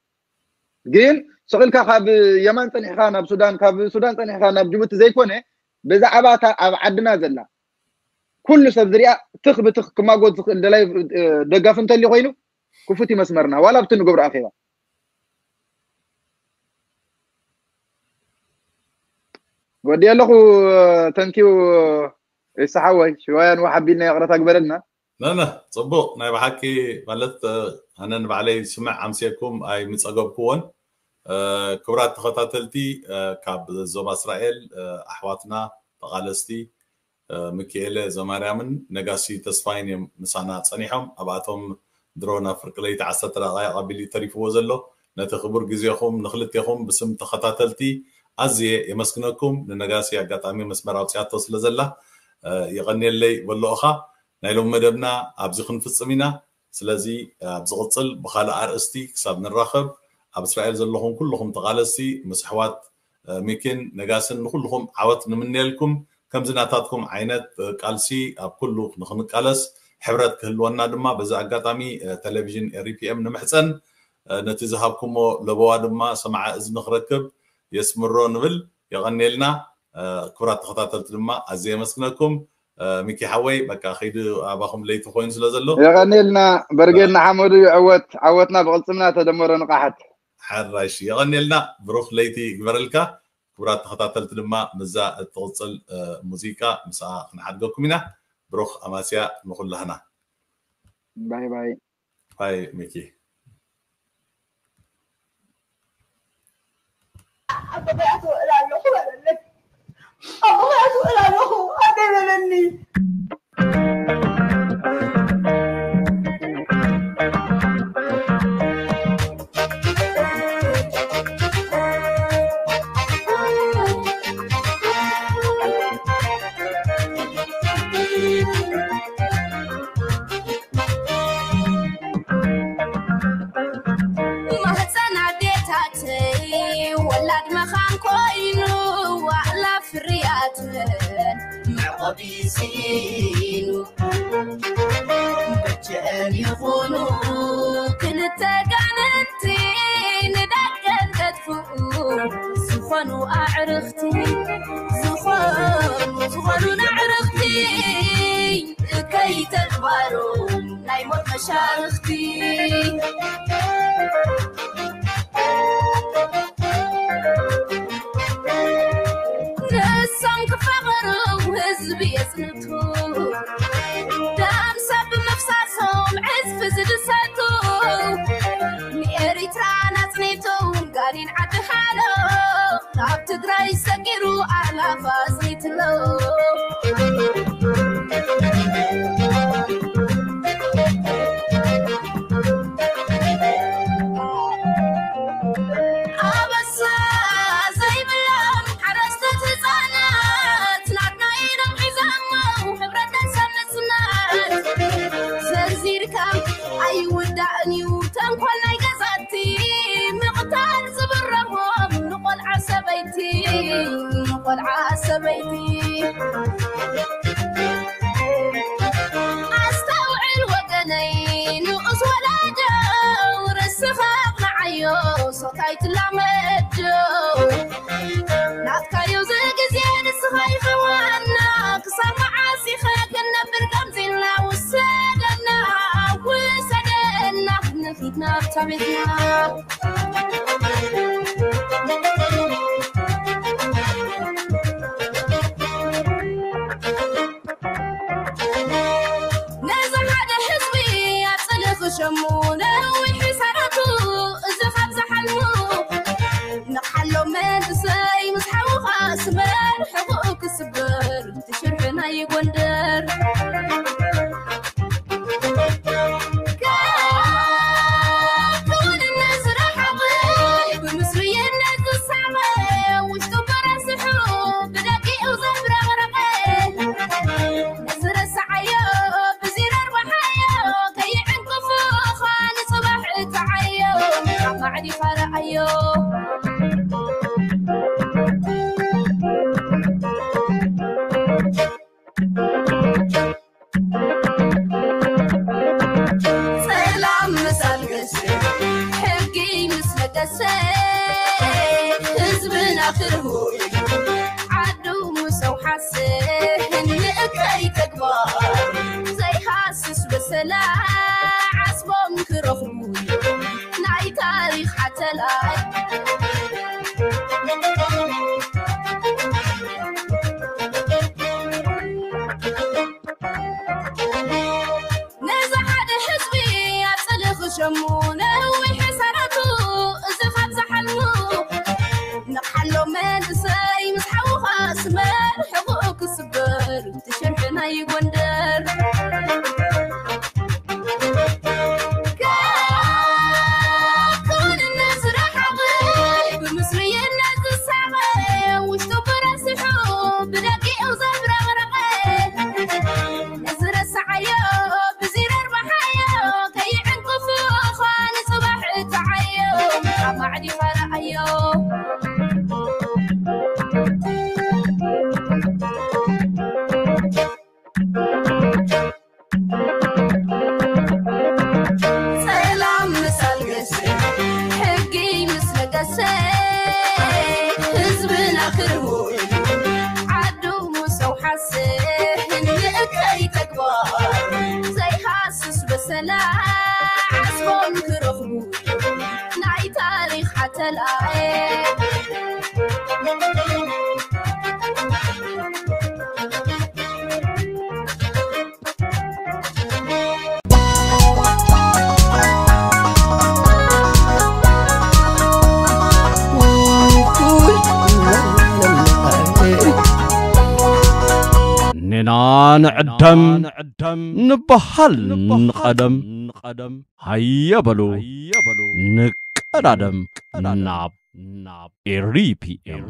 ግን ስቕ ኢልካ ካብ የማን ጸኒሕካ ናብ ሱዳን ካብ ሱዳን ጸኒሕካ ናብ ጅቡቲ ዘይኮነ ብዛዕባ እታ ኣብ ዓድና ዘላ ኩሉ ሰብ ዝሪኣ ትኽ ብትኽ ክማጎት ዝኽእል ደላይ ደጋፊ እንተልዩ ኮይኑ ክፉት እዩ መስመርና ዋላ ኣብቲ ንገብሮ ኣኼባ ወዲ ኣለኹ። ተንኪው ይስሓወይ ሽዋያን ዋሓቢልና ይቕረታ ግበረልና። ነነ ፅቡቅ ናይ ብሓቂ ማለት ኣነ ንባዕለይ ስምዕ ኣምስየኩም ኣይምፀገብኩዎን። ክብራት ተኸታተልቲ ካብ ዞባ እስራኤል ኣሕዋትና ተቓለስቲ ሚኪኤለ ዘማርያምን ነጋሲ ተስፋይን እዮም ምሳና ፀኒሖም። ኣብኣቶም ድሮ ናብ ፍርቂ ለይቲ ዓሰርተ ደቃይቕ ኣቢሉ ተሪፍዎ ዘሎ። ነቲ ክቡር ግዜኹም ንክልቴኹም ብስም ተኸታተልቲ ኣዝየ የመስግነኩም። ንነጋሲ ኣጋጣሚ መስመር ኣውፅያቶ ስለ ዘላ የቐንየለይ በልኦኻ። ናይ ሎም መደብና ኣብዚ ክንፍፅም ኢና። ስለዚ ኣብ ዝቕፅል ብኻልእ ኣርእስቲ ክሳብ ንራኸብ ኣብ እስራኤል ዘለኹም ኩልኹም ተቓለስቲ ምስ ኣሕዋት ሚኪን ነጋስን ንኩልኹም ዓወት ንምነየልኩም። ከምዚ ናታትኩም ዓይነት ቃልሲ ኣብ ኩሉ ንክንቃለስ ሕብረት ክህልወና ድማ በዚ ኣጋጣሚ ቴሌቪዥን ኤሪፒኤም ንምሕፀን። ነቲ ዝሃብኩሞ ለበዋ ድማ ሰማዓ እዝኒ ክረክብ የስምሮ ንብል። የቐንየልና። ክቡራት ተኸታተልቲ ድማ ኣዝየ የመስግነኩም። ሚኪ ሓወይ በቃ ከይዲ ኣባኹም ለይቲ ኮይኑ ስለ ዘሎ የቐንየልና። በርጌድ ንሓመዱ ይዕወት። ዓወትና ብቕልፅምና ተደመሮ ንቓሓት። ሓራሽ የቐንየልና። ብሩኽ ለይቲ ይግበረልካ። ክቡራት ተኸታተልቲ ድማ ምዛ እትቕፅል ሙዚቃ ምስኣ ክንሓድገኩም ኢና። ብሩኽ ኣማስያ ንኹላህና። ባይ ባይ። ባይ ሚኪ። ኣቦ ገያ ትውዕል ኣለኹ በለለይ። ኣቦ ገያ ትውዕል ኣለኹ ኣደይ በለኒ። ማህፀን ኣዴታተይ ወላድ መኻን ኮይኑ ዋዕላ ፍርያት መዕቆቢ ስኢኑ በጀን ይኹኑ ክልተ ጋንንቲ ንደቀን ገድፍኡ ዝኾኑ ኣዕርኽቲ ዝኾኑ ዝኾኑ ንዕርኽቲ እከይ ተግባሩ ናይ ሞት መሻርኽቲ ንሶም ክፋቐሩ ህዝቢ የጽንቱ ደም ሰብ ብምፍሳሶም ዕዝፊ ዝድሰቱ ንኤሪትራ ናጽኒቱ ጋኒን ዓዲ ሓሎ ካብ ትግራይ ሰጊሩ ኣላፋ ኣጽኒትሎ ኣበሳ ዘይብሎም ሓረስቶት ህፃናት ናትና ኢሎም ሒዞሞ ሕብረተሰብ ምፅናት ዘርዚርካ ኣይውዳእን እዩ ተንኮል ናይ ገዛቲ ምቕታል ዝብረሆም ንቆልዓ ሰበይቲ ንቆልዓ ሰበይቲ ኣስተውዕል ወገነይ ንኡስ ወላዶ ርስኻ ኣቕንዓዮ ሶት ኣይትላመዶ ናትካዮ ዝግዜ ንስኻ ኢኻ ዋና ክሳብ መዓስ ኢኻ ክንነብር ከምዚልና ውሰደና ውሰደና ንኺድ ናብታ ቤትና ነዚ ሓደ ህዝቢ ኣፅሊ ክሸሙ ነዊሕ ሰራቱ እዚ ካብ ዝሓልሙ ንቕሓሎ መንእሰይ ምስ ሓውኻ ስበር ሕቑኡ ክስበር ትሽርሒ ናይ ጎንደር ህዝብና ክርሁይ ዓዱ ምሰው ሓስን ንእከይ ተግባር ዘይሃስስ በሰላ ዓስቦም ክረኽቡ ናይ ታሪኽ ሓተላይ ነዚ ሓደ ህዝቢ ኣጽሊ ክሸሙ ነዊሕ ሰራቱ እዚ ካብ ዝሓልሙ ንሓሎ መንእሰይ ምስ ሓውኻ ስመር ሕቑኡ ክስበር ትሽርሒ ናይ ጎንደር ክውንነት ዝረሓቐ ብምስርይነት ዝሳቐ ውሽጡ ብረስሑ ብደቂኡ ዘብረቕረቐ ዝረሳዓዮ ብዚረርባሓዮ ከይዕንቅፉ ኾን ጽባሕ እትዓዮ ኣብ ማዕዲ ፈረኣዮ ሰላም ምስ ኣልገሰ ሕጊ ምስ ነገሰ ህዝብና ክርሁል ዓዱ ሙሰው ሓስን ንእከይ ተግባር ዘይሃስስ በሰላ ዓስቦም ክረኽቡ ናይ ታሪኽ ሓተላየ ኔና ንዕደም ንበሃል ንቐደም ሃየ በሉ ንቀዳደም ናብ ኤሪፒኤም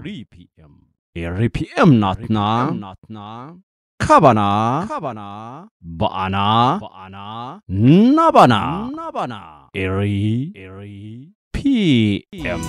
ኤሪፒኤም ናትና ካባና ብኣና ናባና ኤሪ ፒኤም